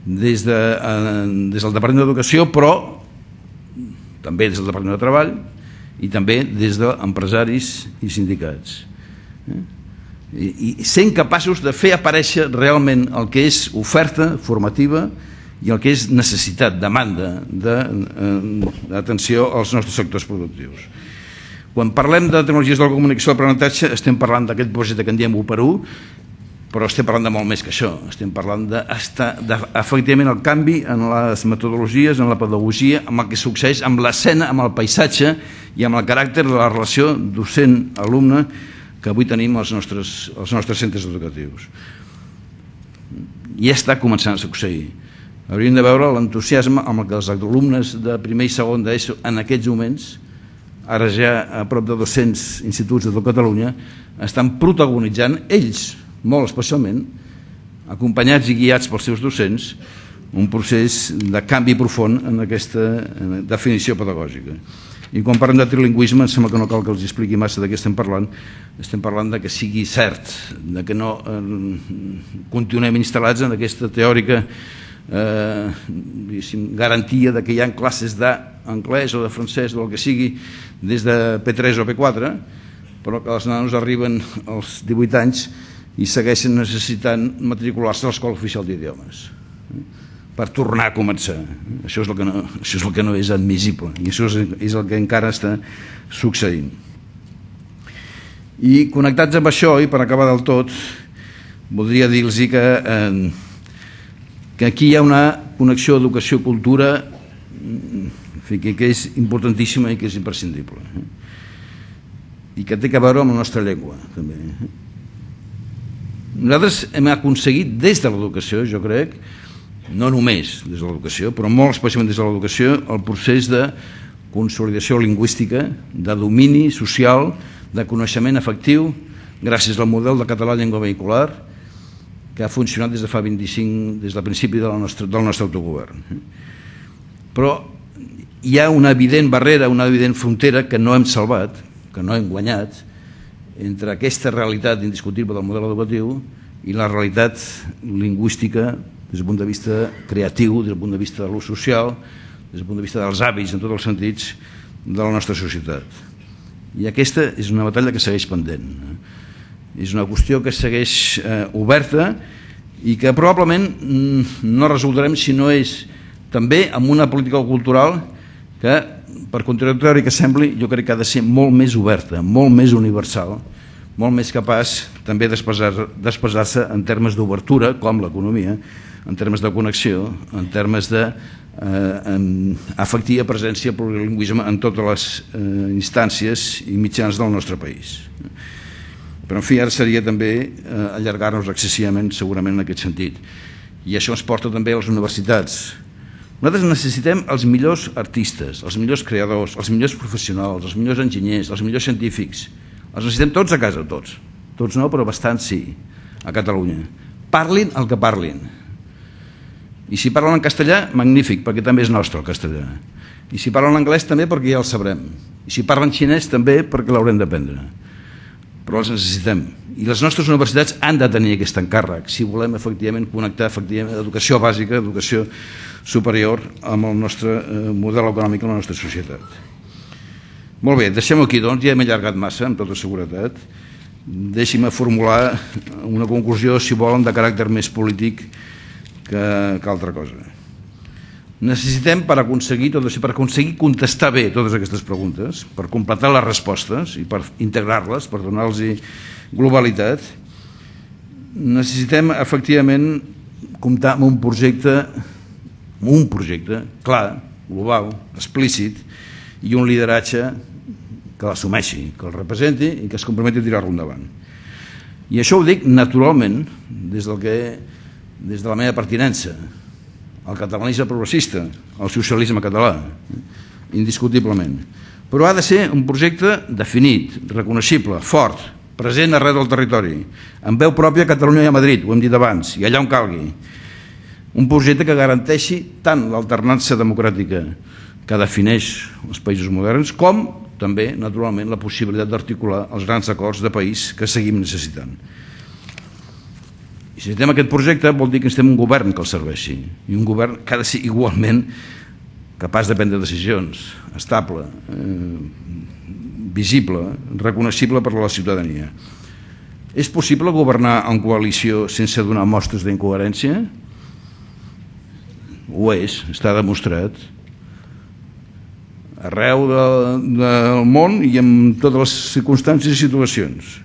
des del Departament d'Educació, però també des del Departament de Treball i també des d'empresaris i sindicats. I sent capaços de fer aparèixer realment el que és oferta formativa i el que és necessitat, demanda d'atenció als nostres sectors productius. Quan parlem de tecnologies de la comunicació i l'aprenentatge estem parlant d'aquest projecte que en diem 1x1, però estem parlant de molt més que això. Estem parlant efectivament el canvi en les metodologies, en la pedagogia, amb el que succeeix amb l'escena, amb el paisatge i amb el caràcter de la relació docent-alumne que avui tenim als nostres centres educatius. I ja està començant a succeir. Hauríem de veure l'entusiasme amb el que els alumnes de primer i segon d'ESO en aquests moments, ara ja a prop de 200 instituts de tot Catalunya, estan protagonitzant ells, molt especialment, acompanyats i guiats pels seus docents, un procés de canvi profund en aquesta definició pedagògica. I quan parlem de trilingüisme, em sembla que no cal que els expliqui massa de què estem parlant de que sigui cert, de que no continuem instal·lats en aquesta teòrica garantia de que hi ha classes d'anglès o de francès o el que sigui des de P3 o P4, però que els nanos arriben als 18 anys i segueixen necessitant matricular-se a l'Escola Oficial d'Idiomes per tornar a començar. Això és el que no és admissible i això és el que encara està succeint. I connectats amb això, i per acabar del tot, voldria dir-los que aquí hi ha una connexió educació-cultura que és importantíssima i que és imprescindible i que té a veure amb la nostra llengua també. Nosaltres hem aconseguit des de l'educació, jo crec, no només des de l'educació, però molt especialment des de l'educació, el procés de consolidació lingüística, de domini social, de coneixement efectiu, gràcies al model de català llengua vehicular, que ha funcionat des de fa 25, des del principi del nostre autogovern. Però hi ha una evident barrera, una evident frontera que no hem salvat, que no hem guanyat, entre aquesta realitat indiscutible del model educatiu i la realitat lingüística des del punt de vista creatiu, des del punt de vista de l'ús social, des del punt de vista dels hàbits en tots els sentits de la nostra societat. I aquesta és una batalla que segueix pendent. És una qüestió que segueix oberta i que probablement no resoldrem si no és també amb una política cultural que, per contradictori que sembli, jo crec que ha de ser molt més oberta, molt més universal, molt més capaç també d'expressar-se en termes d'obertura, com l'economia, en termes de connexió, en termes d'efectiva presència plurilingüisme en totes les instàncies i mitjans del nostre país. Però, en fi, ara seria també allargar-nos excessivament, segurament, en aquest sentit. I això ens porta també a les universitats. Nosaltres necessitem els millors artistes, els millors creadors, els millors professionals, els millors enginyers, els millors científics. Els necessitem tots a casa, tots. Tots no, però bastants sí, a Catalunya. Parlin el que parlin. I si parlen en castellà, magnífic, perquè també és nostre el castellà. I si parlen anglès, també perquè ja el sabrem. I si parlen xinès, també perquè l'haurem d'aprendre. Però els necessitem. I les nostres universitats han de tenir aquest encàrrec si volem efectivament connectar educació bàsica, educació superior amb el nostre model econòmic en la nostra societat. Molt bé, deixem-ho aquí, doncs, ja hem allargat massa, amb tota seguretat. Deixi'm formular una conclusió, si volen, de caràcter més polític que altra cosa. Necessitem, per aconseguir contestar bé totes aquestes preguntes, per completar les respostes i per integrar-les, per donar-los globalitat, necessitem efectivament comptar amb un projecte clar, global, explícit, i un lideratge que l'assumeixi, que el representi i que es comprometi a tirar-lo endavant. I això ho dic naturalment des de la meva pertinença al catalanisme progressista, al socialisme català, indiscutiblement. Però ha de ser un projecte definit, reconeixible, fort, present arreu del territori, amb veu pròpia a Catalunya i a Madrid, ho hem dit abans, i allà on calgui. Un projecte que garanteixi tant l'alternança democràtica que defineix els països moderns, com també, naturalment, la possibilitat d'articular els grans acords de país que seguim necessitant. Si necessitem aquest projecte vol dir que necessitem un govern que el serveixi, i un govern que ha de ser igualment capaç de prendre decisions, estable, visible, reconeixible per a la ciutadania. És possible governar en coalició sense donar mostres d'incoherència? Ho és, està demostrat. Arreu del món i en totes les circumstàncies i situacions.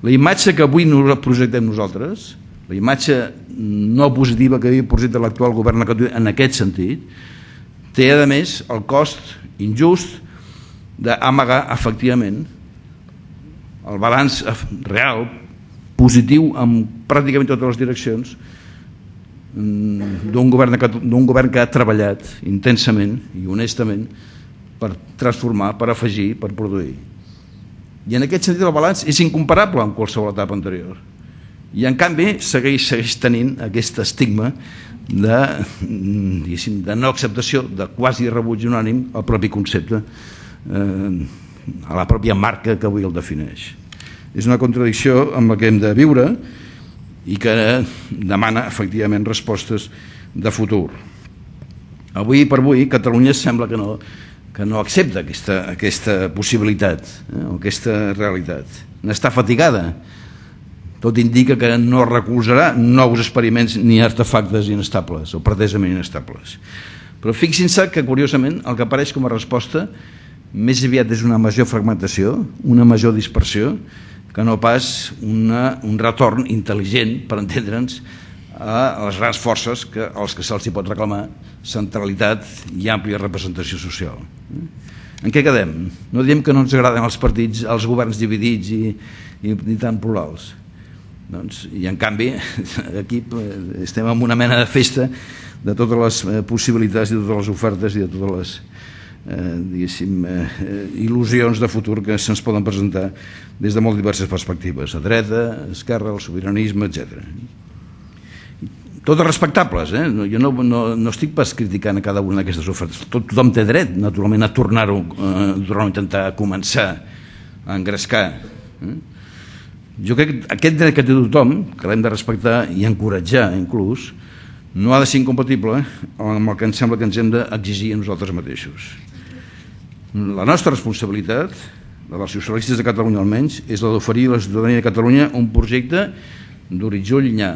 La imatge que avui projectem nosaltres, la imatge no positiva que projecta l'actual govern en aquest sentit, té a més el cost injust d'amagar efectivament el balanç real, positiu en pràcticament totes les direccions d'un govern que ha treballat intensament i honestament per transformar, per afegir, per produir. I en aquest sentit el balanç és incomparable amb qualsevol etapa anterior. I en canvi segueix tenint aquest estigma de no acceptació, de quasi rebuig unànim al propi concepte, a la pròpia marca que avui el defineix. És una contradicció amb la que hem de viure i que demana efectivament respostes de futur. Avui per avui Catalunya sembla que no accepta aquesta possibilitat, aquesta realitat. N'està fatigada. Tot indica que no recolzarà nous experiments ni artefactes inestables o pretesament inestables. Però fixin-se que, curiosament, el que apareix com a resposta més aviat és una major fragmentació, una major dispersió, que no pas un retorn intel·ligent, per entendre'ns, a les grans forces als que se'ls pot reclamar centralitat i àmplia representació social. En què quedem? No diem que no ens agraden els partits, els governs dividits i tan plurals. I en canvi aquí estem en una mena de festa de totes les possibilitats i de totes les ofertes i de totes les il·lusions de futur que se'ns poden presentar des de molt diverses perspectives, a dreta, a esquerra, el sobiranisme, etc. Totes respectables, jo no estic pas criticant a cada una d'aquestes ofertes, tothom té dret naturalment a tornar-ho, a intentar començar a engrescar. Jo crec que aquest dret que té tothom, que l'hem de respectar i encoratjar inclús, no ha de ser incompatible amb el que ens sembla que ens hem d'exigir a nosaltres mateixos. La nostra responsabilitat, la dels socialistes de Catalunya almenys, és la d'oferir a la ciutadania de Catalunya un projecte d'horitzó llunyà,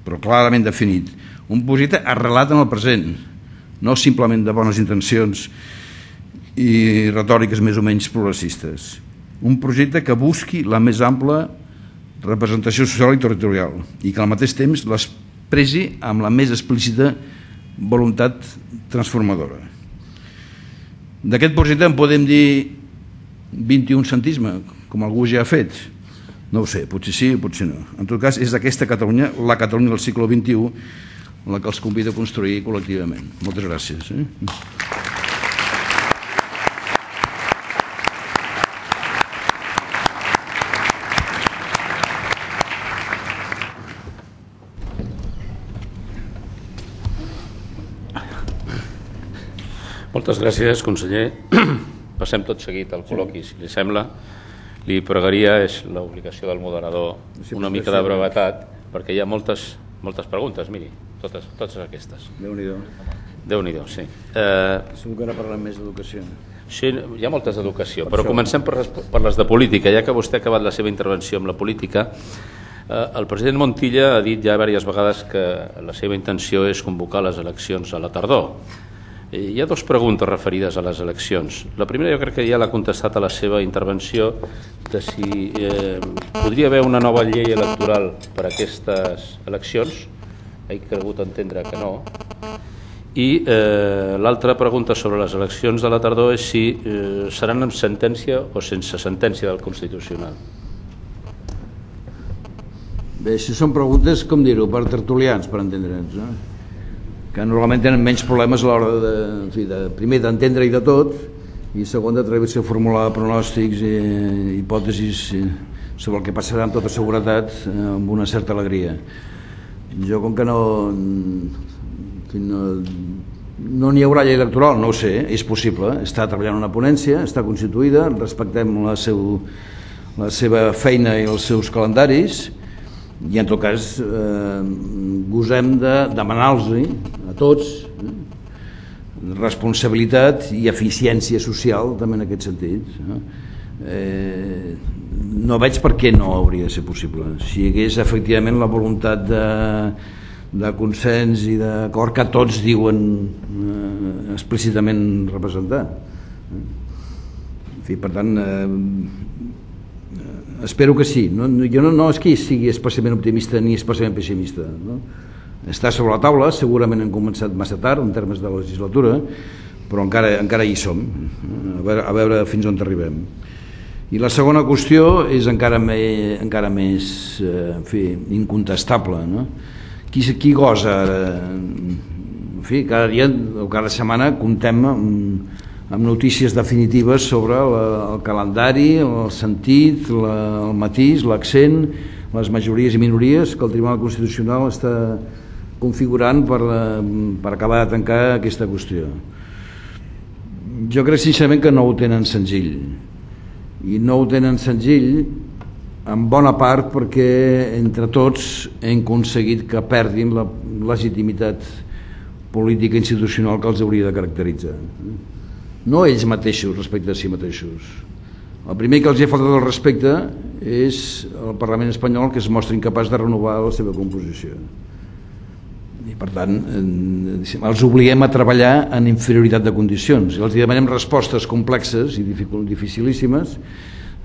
però clarament definit, un projecte arrelat en el present, no simplement de bones intencions i retòriques més o menys progressistes. Un projecte que busqui la més ampla representació social i territorial i que al mateix temps l'expressi amb la més explícita voluntat transformadora. D'aquest projecte en podem dir 21 centisme, com algú ja ha fet? No ho sé, potser sí o potser no. En tot cas, és aquesta Catalunya, la Catalunya del segle XXI, la que els convida a construir col·lectivament. Moltes gràcies. Moltes gràcies, conseller. Passem tot seguit al col·loqui, si li sembla. Li pregaria, és l'obligació del moderador, una mica de brevetat, perquè hi ha moltes preguntes, miri, totes aquestes. Déu-n'hi-do. Déu-n'hi-do, sí. Segur que ara parlem més d'educació. Sí, hi ha moltes d'educació, però comencem per les de política. Ja que vostè ha acabat la seva intervenció amb la política, El president Montilla ha dit ja diverses vegades que la seva intenció és convocar les eleccions a la tardor. Hi ha dues preguntes referides a les eleccions. La primera jo crec que ja l'ha contestat a la seva intervenció, de si podria haver una nova llei electoral per a aquestes eleccions. He cregut entendre que no. I l'altra pregunta sobre les eleccions de la tardor és si seran amb sentència o sense sentència del Constitucional. Bé, això són preguntes, com dir-ho, per tertulians, per entendre'ns, no? Que normalment tenen menys problemes a l'hora primer d'entendre i de tot, i segon d'atrevir-se a formular pronòstics i hipòtesis sobre el que passarà amb tota seguretat amb una certa alegria. Jo, com que no n'hi haurà llei electoral, no ho sé, és possible, està treballant una ponència, està constituïda, respectem la seva feina i els seus calendaris, i en tot cas gosem de demanar-los a tots responsabilitat i eficiència social també en aquest sentit. No veig per què no hauria de ser possible. Si hi hagués efectivament la voluntat de consens i d'acord que tots diuen explícitament representar. En fi, per tant, espero que sí. Jo no és que sigui especialment optimista ni especialment pessimista. Està sobre la taula, segurament hem començat massa tard en termes de legislatura, però encara hi som, a veure fins on arribem. I la segona qüestió és encara més incontestable. Qui gosa ara? En fi, cada dia o cada setmana comptem amb notícies definitives sobre el calendari, el sentit, el matís, l'accent, les majories i minories que el Tribunal Constitucional està configurant per acabar de tancar aquesta qüestió. Jo crec sincerament que no ho tenen senzill, i no ho tenen senzill en bona part perquè entre tots hem aconseguit que perdin la legitimitat política institucional que els hauria de caracteritzar. No ells mateixos respecte a si mateixos. El primer que els ha faltat el respecte és el Parlament espanyol, que es mostra incapaç de renovar la seva composició. I per tant els obliguem a treballar en inferioritat de condicions i els demanem respostes complexes i dificilíssimes,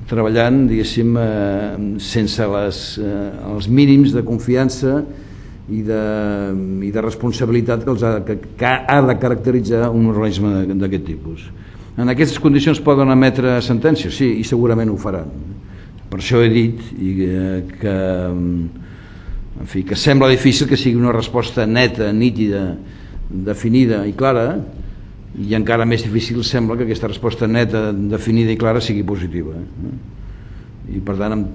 treballant, diguéssim, sense els mínims de confiança i de responsabilitat que ha de caracteritzar un organisme d'aquest tipus. En aquestes condicions poden emetre sentències? Sí, i segurament ho faran. Per això he dit que sembla difícil que sigui una resposta neta, nítida, definida i clara, i encara més difícil sembla que aquesta resposta neta, definida i clara sigui positiva. I per tant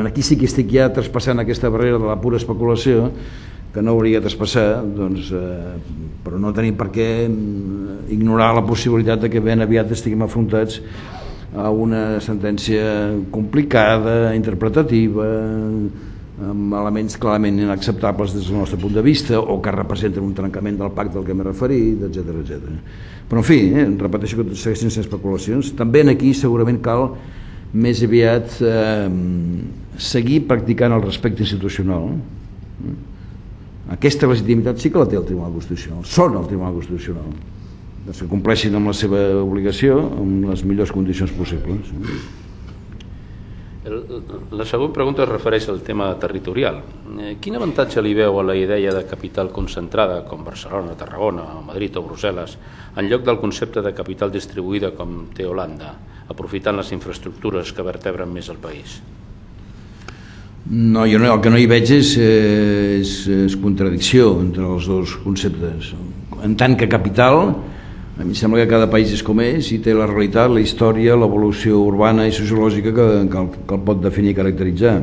aquí sí que estic ja traspassant aquesta barrera de la pura especulació que no hauria de traspassar, però no tenim per què ignorar la possibilitat que ben aviat estiguem afrontats a una sentència complicada, interpretativa, amb elements clarament inacceptables des del nostre punt de vista o que representen un trencament del pacte al que m'he referit, etc. Però en fi, repeteixo que segueixen sent especulacions. També aquí segurament cal més aviat seguir practicant el respecte institucional. Aquesta legitimitat sí que la té el Tribunal Constitucional, són el Tribunal Constitucional, que compleixin amb la seva obligació en les millors condicions possibles. La següent pregunta es refereix al tema territorial. Quin avantatge li veu a la idea de capital concentrada com Barcelona, Tarragona, Madrid o Brussel·les en lloc del concepte de capital distribuïda com té Holanda, aprofitant les infraestructures que vertebren més el país? No, jo el que no hi veig és contradicció entre els dos conceptes. En tant que capital, a mi sembla que cada país és com és i té la realitat, la història, l'evolució urbana i sociològica que el pot definir i caracteritzar.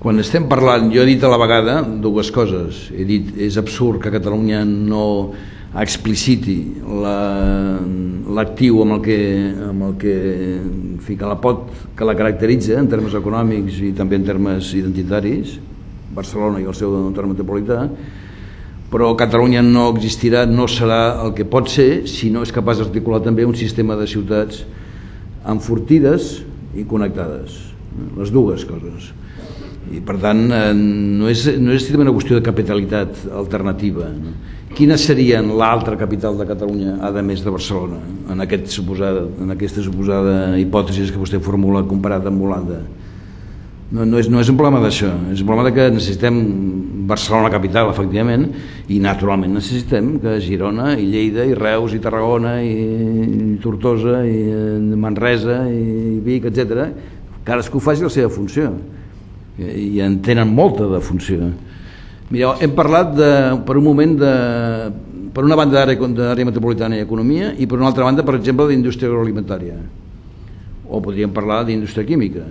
Quan estem parlant, jo he dit a la vegada dues coses. He dit, és absurd que Catalunya no expliciti l'actiu que la caracteritza en termes econòmics i també en termes identitaris, Barcelona i el seu entorn metropolità, però Catalunya no existirà, no serà el que pot ser si no és capaç d'articular també un sistema de ciutats enfortides i connectades. les dues coses. I per tant no és una qüestió de capitalitat alternativa. Quina serien l'altra capital de Catalunya, a més de Barcelona, en aquesta suposada hipòtesi que vostè formula comparat amb Holanda? No és un problema d'això, és un problema que necessitem Barcelona capital, efectivament, i naturalment necessitem que Girona i Lleida i Reus i Tarragona i Tortosa i Manresa i Vic, etc., cadascú faci la seva funció, i en tenen molta de funció. Mireu, hem parlat per un moment per una banda d'àrea metropolitana i economia i per una altra banda, per exemple, d'indústria agroalimentària, o podríem parlar d'indústria química.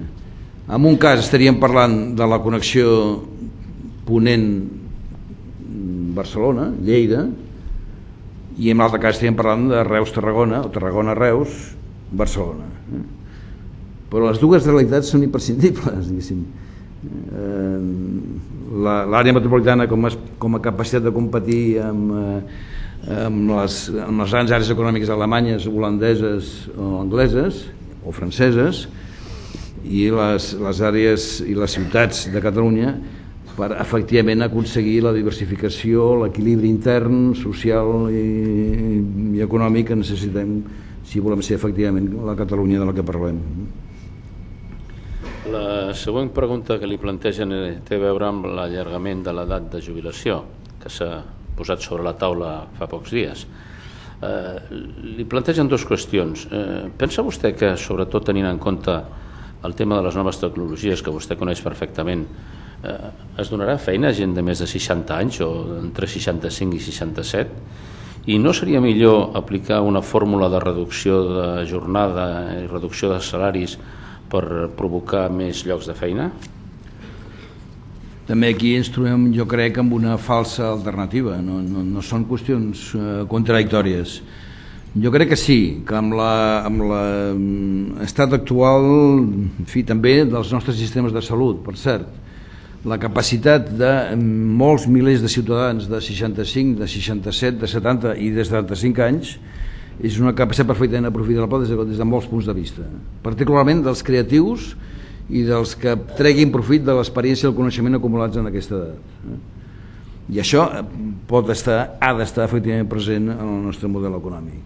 En un cas estaríem parlant de la connexió Ponent-Barcelona, Lleida, i en l'altre cas estaríem parlant de Reus-Tarragona o Tarragona-Reus-Barcelona. Però les dues realitats són imprescindibles, diguéssim. L'àrea metropolitana com a capacitat de competir amb les grans àrees econòmiques alemanyes, holandeses o angleses o franceses, i les àrees i les ciutats de Catalunya per efectivament aconseguir la diversificació, l'equilibri intern, social i econòmic que necessitem si volem ser efectivament la Catalunya de la que parlem. La següent pregunta que li plantegen té a veure amb l'allargament de l'edat de jubilació, que s'ha posat sobre la taula fa pocs dies. Li plantegen dues qüestions. Pensa vostè que, sobretot tenint en compte el tema de les noves tecnologies que vostè coneix perfectament, es donarà feina a gent de més de 60 anys o entre 65 i 67? I no seria millor aplicar una fórmula de reducció de jornada i reducció de salaris per provocar més llocs de feina? També aquí ens trobem, jo crec, amb una falsa alternativa. No són qüestions contradictòries. Jo crec que sí, que amb l'estat actual, en fi, també dels nostres sistemes de salut, per cert, la capacitat de molts milers de ciutadans de 65, de 67, de 70 i de 75 anys és una capacitat perfectament aprofitable des de molts punts de vista, particularment dels creatius i dels que treguin profit de l'experiència i el coneixement acumulats en aquesta edat. I això ha d'estar efectivament present en el nostre model econòmic.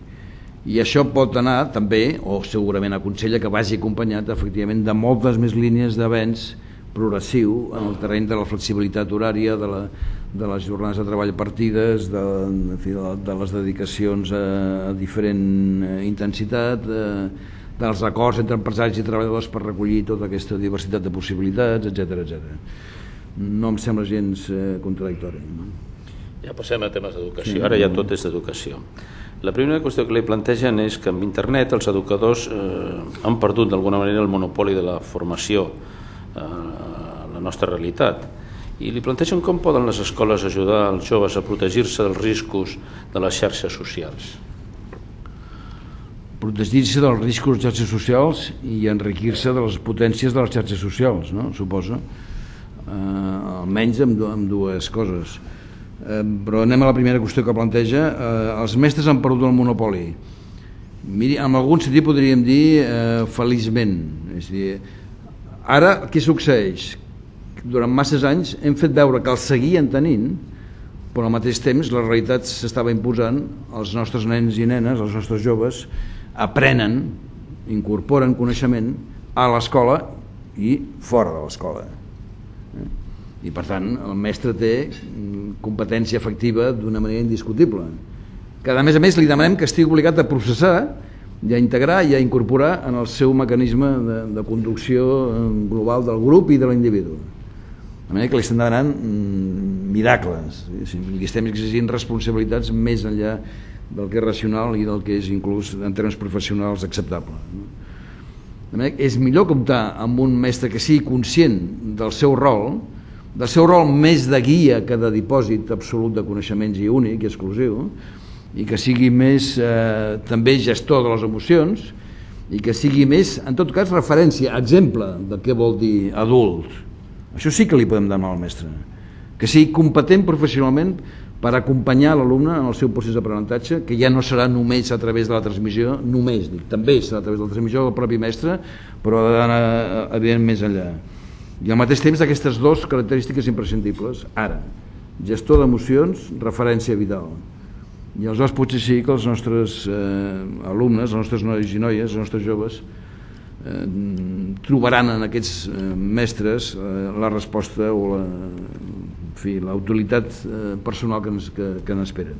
I això pot anar també, o segurament aconsella que vagi acompanyat efectivament de moltes més línies d'avenç progressiu en el terreny de la flexibilitat horària, de les jornades de treball partides, de les dedicacions a diferent intensitat, dels acords entre empresaris i treballadors per recollir tota aquesta diversitat de possibilitats, etc. No em sembla gens contradictori. Ja passem a temes d'educació, ara ja tot és d'educació. La primera qüestió que li plantegen és que amb internet els educadors han perdut d'alguna manera el monopoli de la formació a la nostra realitat, i li plantegen com poden les escoles ajudar els joves a protegir-se dels riscos de les xarxes socials. Protegir-se dels riscos de les xarxes socials i enriquir-se de les potències de les xarxes socials, no? Suposo, almenys amb dues coses. Però anem a la primera qüestió que planteja. Els mestres han perdut el monopoli. Miri, en algun sentit podríem dir feliçment. És a dir, ara què succeeix? Durant masses anys hem fet veure que el seguien tenint, però al mateix temps la realitat s'estava imposant. Els nostres nens i nenes, els nostres joves, aprenen, incorporen coneixement a l'escola i fora de l'escola. I per tant el mestre té competència efectiva d'una manera indiscutible, que a més li demanem que estigui obligat a processar i a integrar i a incorporar en el seu mecanisme de conducció global del grup i de l'individu. De manera que li estem demanant miracles, li estem exigint responsabilitats més enllà del que és racional i del que és inclús en termes professionals acceptable. De manera que és millor comptar amb un mestre que sigui conscient del seu rol més de guia que de dipòsit absolut de coneixements i únic i exclusiu, i que sigui més també gestor de les emocions, i que sigui més, en tot cas, referència, exemple de què vol dir adult. Això sí que li podem demanar al mestre, que sigui competent professionalment per acompanyar l'alumne en el seu procés d'aprenentatge, que ja no serà només a través de la transmissió, també serà a través de la transmissió del propi mestre, però ha d'anar evidentment més enllà. I al mateix temps aquestes dues característiques imprescindibles. Ara, gestor d'emocions, referència vital. I aleshores potser sí que els nostres alumnes, els nostres nois i noies, els nostres joves, trobaran en aquests mestres la resposta o la utilitat personal que n'esperen.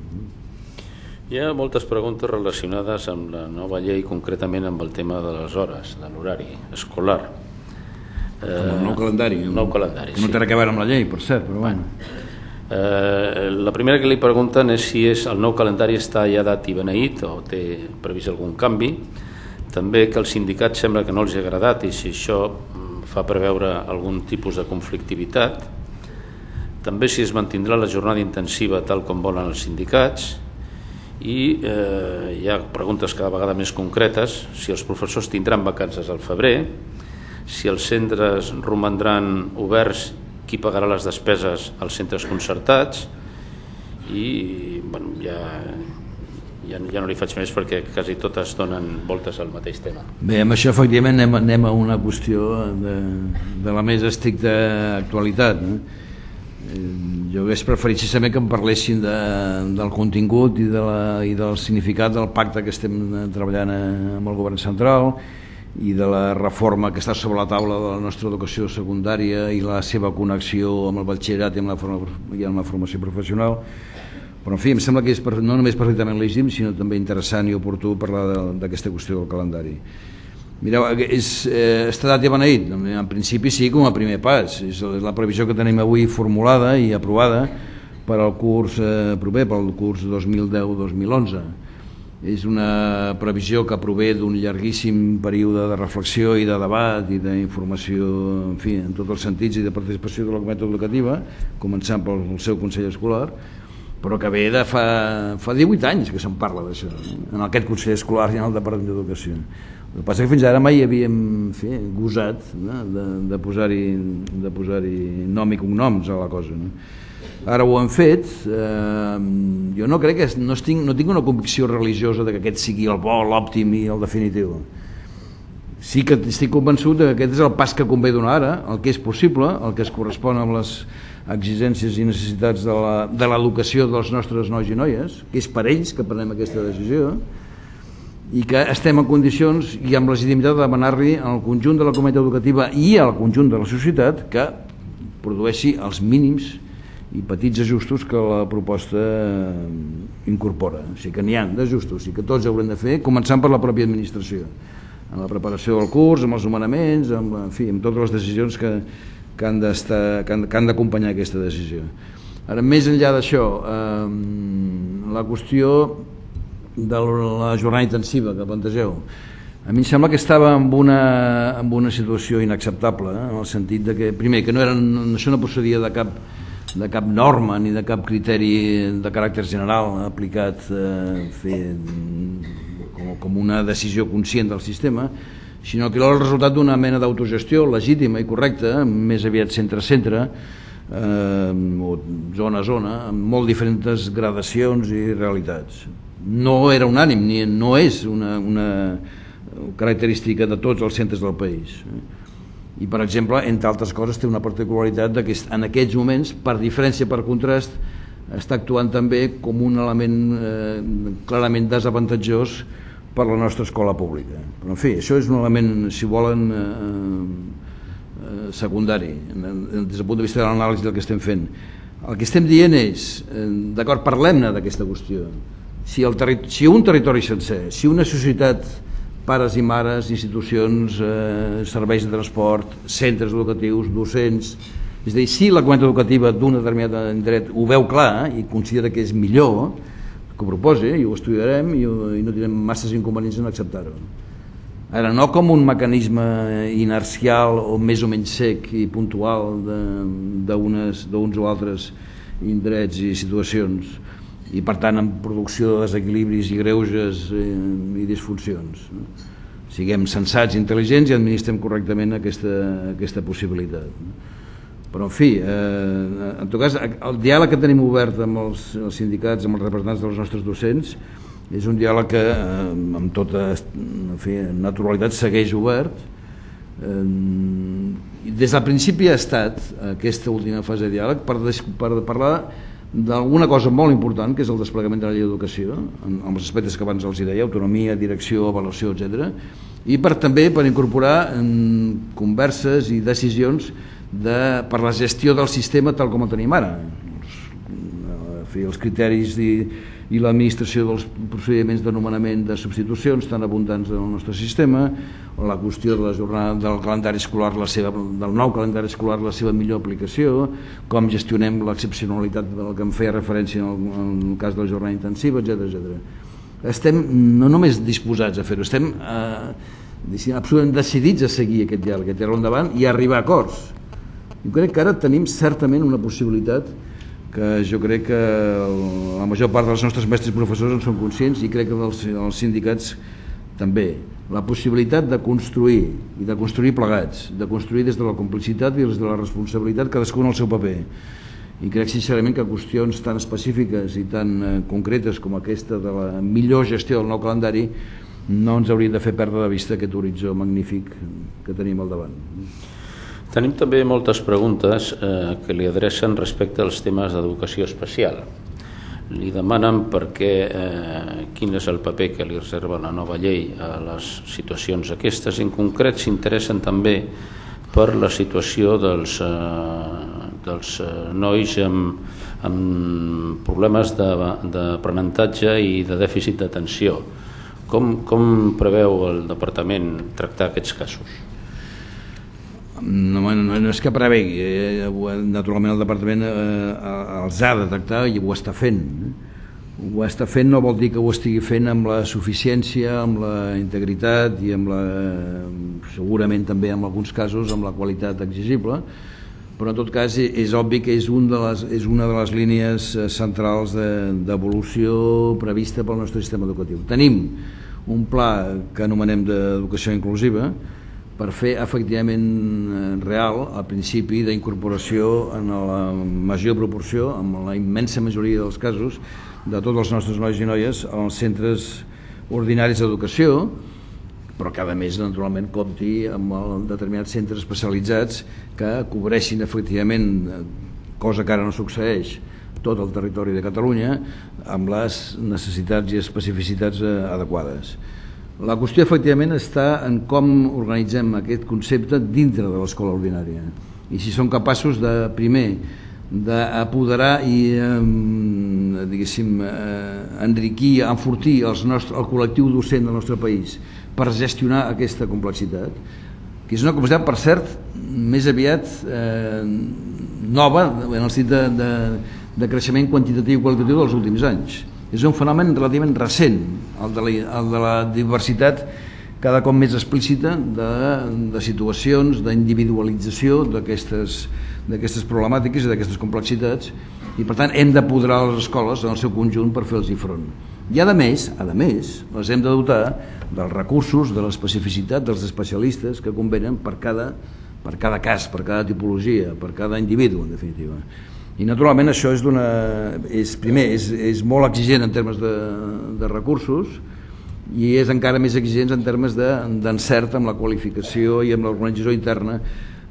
Hi ha moltes preguntes relacionades amb la nova llei, concretament amb el tema de les hores, de l'horari escolar. El nou calendari. Nou calendari, sí. No té res a veure amb la llei, per cert, però bueno. La primera que li pregunten és si el nou calendari està ja dat i beneït o té previst algun canvi. També que als sindicats sembla que no els ha agradat i si això fa preveure algun tipus de conflictivitat. També si es mantindrà la jornada intensiva tal com volen els sindicats. I hi ha preguntes cada vegada més concretes, si els professors tindran vacances al febrer, si els centres romandran oberts, qui pagarà les despeses als centres concertats i bueno, ja no li faig més perquè quasi totes donen voltes al mateix tema. Bé, amb això efectivament anem a una qüestió de la més estricta actualitat, no? Jo hauria preferit sincerament que em parlessin del contingut i del significat del pacte que estem treballant amb el govern central i de la reforma que està sobre la taula de la nostra educació secundària i la seva connexió amb el batxillerat i amb la formació professional. Però en fi, em sembla que és no només perfectament legítim sinó també interessant i oportú parlar d'aquesta qüestió del calendari. Mireu, està dat i beneït? En principi sí, com a primer pas. És la previsió que tenim avui formulada i aprovada per al curs proper, pel curs 2010-2011. És una previsió que prové d'un llarguíssim període de reflexió i de debat i d'informació, en fi, en tots els sentits i de participació de la comunitat educativa, començant pel seu Consell Escolar, però que ve de fa 18 anys que se'n parla d'això, en aquest Consell Escolar i en el Departament d'Educació. El que passa que fins ara mai havíem gosat de posar-hi nom i cognoms a la cosa. Ara ho han fet. Jo no crec que no tinc una convicció religiosa que aquest sigui el bo, l'òptim i el definitiu. Sí que estic convençut que aquest és el pas que convé donar ara, el que és possible, el que es correspon amb les exigències i necessitats de l'educació dels nostres nois i noies, que és per ells que prenem aquesta decisió, i que estem en condicions i amb legitimitat de demanar-li al conjunt de la comunitat educativa i al conjunt de la societat que produeixi els mínims i petits ajustos que la proposta incorpora. O sigui que n'hi ha d'ajustos i que tots haurem de fer, començant per la pròpia administració, en la preparació del curs, amb els nomenaments, amb totes les decisions que han d'acompanyar aquesta decisió. Ara, més enllà d'això, la qüestió de la jornada intensiva que plantegeu, a mi em sembla que estava en una situació inacceptable, en el sentit de que, primer, que això no procedia de cap norma ni de cap criteri de caràcter general aplicat com una decisió conscient del sistema, sinó que era el resultat d'una mena d'autogestió legítima i correcta, més aviat centre a centre, o zona a zona, amb molt diferents gradacions i realitats. No era unànim, ni no és una característica de tots els centres del país. I, per exemple, entre altres coses, té una particularitat que en aquests moments, per diferència, per contrast, està actuant també com un element clarament desavantatjós per la nostra escola pública. Però, en fi, això és un element, si volen, secundari, des del punt de vista de l'anàlisi del que estem fent. El que estem dient és, d'acord, parlem-ne d'aquesta qüestió. Si un territori sencer, si una societat, pares i mares, institucions, serveis de transport, centres educatius, docents, és a dir, si la comunitat educativa d'un determinat indret ho veu clar i considera que és millor, que ho proposi i ho estudiarem i no tindrem masses inconvenients en acceptar-ho. Ara, no com un mecanisme inercial o més o menys sec i puntual d'uns o altres indrets i situacions, i per tant en producció de desequilibris i greuges i disfuncions. Siguem sensats i intel·ligents i administrem correctament aquesta possibilitat. Però, en fi, en tot cas, el diàleg que tenim obert amb els sindicats, amb els representants dels nostres docents, és un diàleg que, amb tota naturalitat, segueix obert. Des del principi ha estat aquesta última fase de diàleg per parlar d'alguna cosa molt important, que és el desplegament de la llei d'educació, amb els aspectes que abans els deia, autonomia, direcció, avaluació, etc. I també per incorporar converses i decisions per la gestió del sistema tal com el tenim ara. Els criteris i l'administració dels procediments de nomenament de substitucions tan abundants en el nostre sistema, o la qüestió de la jornada del calendari escolar, del nou calendari escolar, la seva millor aplicació, com gestionem l'excepcionalitat del que em feia referència en el cas de la jornada intensiva, etc. Estem no només disposats a fer-ho, estem absolutament decidits a seguir aquest diàleg endavant i a arribar a acords. Jo crec que ara tenim certament una possibilitat que jo crec que la major part dels nostres mestres i professors en són conscients, i crec que els sindicats també. La possibilitat de construir, i de construir plegats, de construir des de la complicitat i des de la responsabilitat, cadascú en el seu paper. I crec sincerament que qüestions tan específiques i tan concretes com aquesta de la millor gestió del nou calendari no ens haurien de fer perdre de vista aquest horitzó magnífic que tenim al davant. Tenim també moltes preguntes que li adrecen respecte als temes d'educació especial. Li demanen quin és el paper que li reserva la nova llei a les situacions aquestes. En concret s'interessen també per la situació dels nois amb problemes d'aprenentatge i de dèficit d'atenció. Com preveu el departament tractar aquests casos? No és que prevegui, naturalment el departament els ha de tractar i ho està fent. Ho està fent no vol dir que ho estigui fent amb la suficiència, amb la integritat i segurament també en alguns casos amb la qualitat exigible, però en tot cas és obvi que és una de les línies centrals d'evolució prevista pel nostre sistema educatiu. Tenim un pla que anomenem d'educació inclusiva per fer efectivament real el principi d'incorporació en la major proporció, en la immensa majoria dels casos, de tots els nostres nois i noies als centres ordinaris d'educació, però que a més naturalment compti amb determinats centres especialitzats que cobreixin efectivament, cosa que ara no succeeix, tot el territori de Catalunya amb les necessitats i especificitats adequades. La qüestió efectivament està en com organitzem aquest concepte dintre de l'escola ordinària i si som capaços de, primer, d'apoderar i enriquir, enfortir el col·lectiu docent del nostre país per gestionar aquesta complexitat, que és una complexitat, per cert, més aviat nova en el sentit de creixement quantitatiu i qualitatiu dels últims anys. És un fenomen relativament recent, el de la diversitat cada cop més explícita de situacions, d'individualització d'aquestes problemàtiques i d'aquestes complexitats, i per tant hem d'apoderar les escoles en el seu conjunt per fer-los-hi front. I a més, les hem de dotar dels recursos, de l'especificitat dels especialistes que convenen per cada cas, per cada tipologia, per cada individu, en definitiva. I naturalment això és molt exigent en termes de recursos i és encara més exigent en termes d'encert amb la qualificació i amb l'organització interna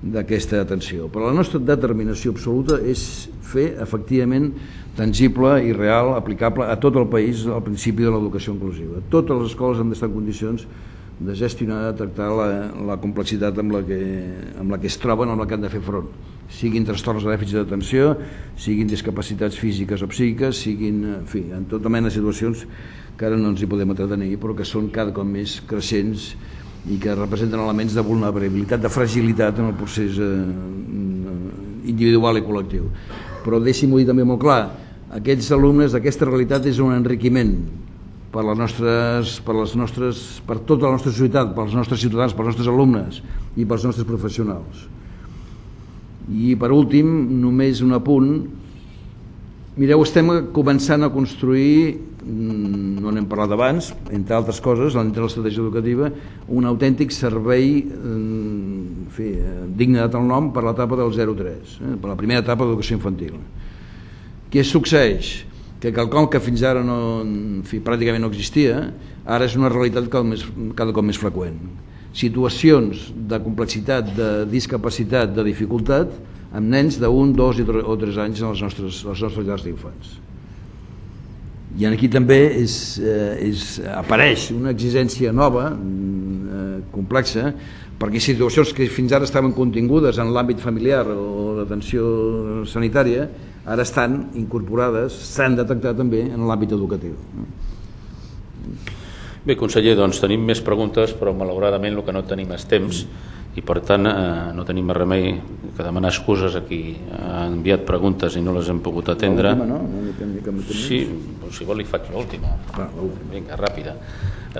d'aquesta atenció. Però la nostra determinació absoluta és fer efectivament tangible i real, aplicable a tot el país, el principi de l'educació inclusiva. Totes les escoles han d'estar en condicions de gestionar, de tractar la complexitat amb la que es troben, amb la que han de fer front, siguin trastorns de dèficit d'atenció, siguin discapacitats físiques o psíquiques, siguin, en fi, en tota mena de situacions que ara no ens hi podem entretenir, però que són cada cop més creixents i que representen elements de vulnerabilitat, de fragilitat en el procés individual i col·lectiu. Però deixi-m'ho dir també molt clar, aquests alumnes, aquesta realitat és un enriquiment per tota la nostra societat, pels nostres ciutadans, pels nostres alumnes i pels nostres professionals. I per últim, només un apunt. Mireu, estem començant a construir, no n'hem parlat abans, entre altres coses, dintre de l'estratègia educativa, un autèntic servei digne de tal nom per l'etapa del 0-3, per la primera etapa d'educació infantil. Què succeeix? Que quelcom que fins ara pràcticament no existia, ara és una realitat cada cop més freqüent. Situacions de complexitat, de discapacitat, de dificultat, amb nens d'1, 2 o 3 anys en les nostres llars d'infants. I aquí també apareix una exigència nova, complexa, perquè situacions que fins ara estaven contingudes en l'àmbit familiar o l'atenció sanitària ara estan incorporades, s'han detectat també en l'àmbit educatiu. Bé, conseller, doncs tenim més preguntes, però malauradament el que no tenim és temps i per tant no tenim més remei que demanar excuses a qui ha enviat preguntes i no les hem pogut atendre. Sí, si vol li faig l'última. Vinga, ràpida.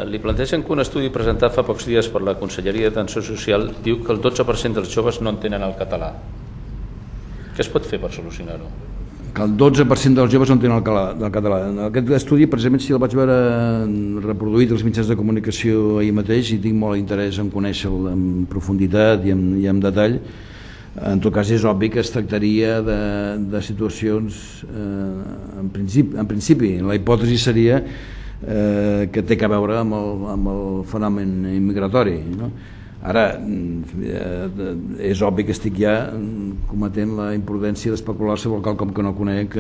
Li plantegen que un estudi presentat fa pocs dies per la Conselleria d'Atenció Social diu que el 12% dels joves no entenen el català. Què es pot fer per solucionar-ho? Que el 12% dels joves no entenen el català. Aquest estudi, precisament, si el vaig veure reproduït als mitjans de comunicació ahir mateix i tinc molt interès en conèixer-lo en profunditat i en detall, en tot cas és obvi que es tractaria de situacions, en principi, la hipòtesi seria que té a veure amb el fenomen immigratori, no? Ara, és obvi que estic ja cometent la imprudència d'especular sobre quelcom que no conec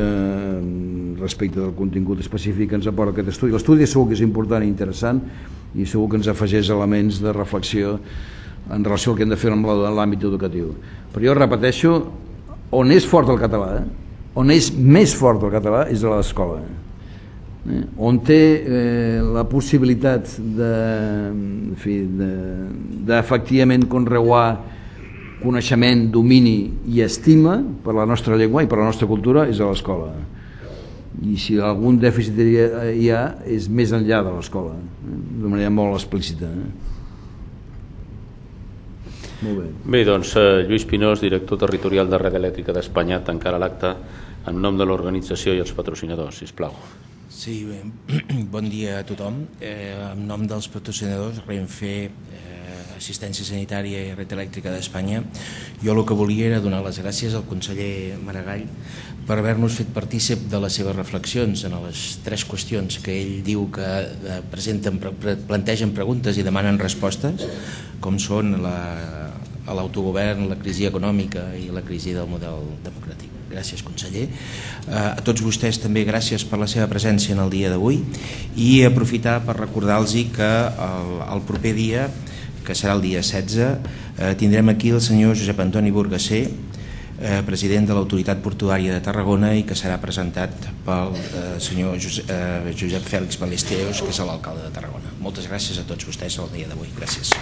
respecte del contingut específic que ens aporta aquest estudi. L'estudi segur que és important i interessant i segur que ens afegeix elements de reflexió en relació al que hem de fer en l'àmbit educatiu. Però jo repeteixo, on és fort el català, on és més fort el català és a l'escola. On té la possibilitat d'efectivament conreuar coneixement, domini i estima per la nostra llengua i per la nostra cultura és a l'escola. I si algun dèficit hi ha és més enllà de l'escola, de manera molt explícita. Molt bé. Bé, doncs Lluís Pinós, director territorial de Red Elèctrica d'Espanya, tancarà l'acte en nom de l'organització i els patrocinadors, sisplau. Sí, bon dia a tothom. En nom dels patrocinadors, Renfe, Assistència Sanitària i Red Elèctrica d'Espanya, jo el que volia era donar les gràcies al conseller Maragall per haver-nos fet partícip de les seves reflexions en les 3 qüestions que ell diu que plantegen preguntes i demanen respostes, com són l'autogovern, la crisi econòmica i la crisi del model democràtic. Gràcies, conseller. A tots vostès també gràcies per la seva presència en el dia d'avui i aprofitar per recordar-los que el proper dia, que serà el dia 16, tindrem aquí el senyor Josep Antoni Burgasser, president de l'Autoritat Portuària de Tarragona i que serà presentat pel senyor Josep Fèlix Ballesteros, que és l'alcalde de Tarragona. Moltes gràcies a tots vostès el dia d'avui. Gràcies.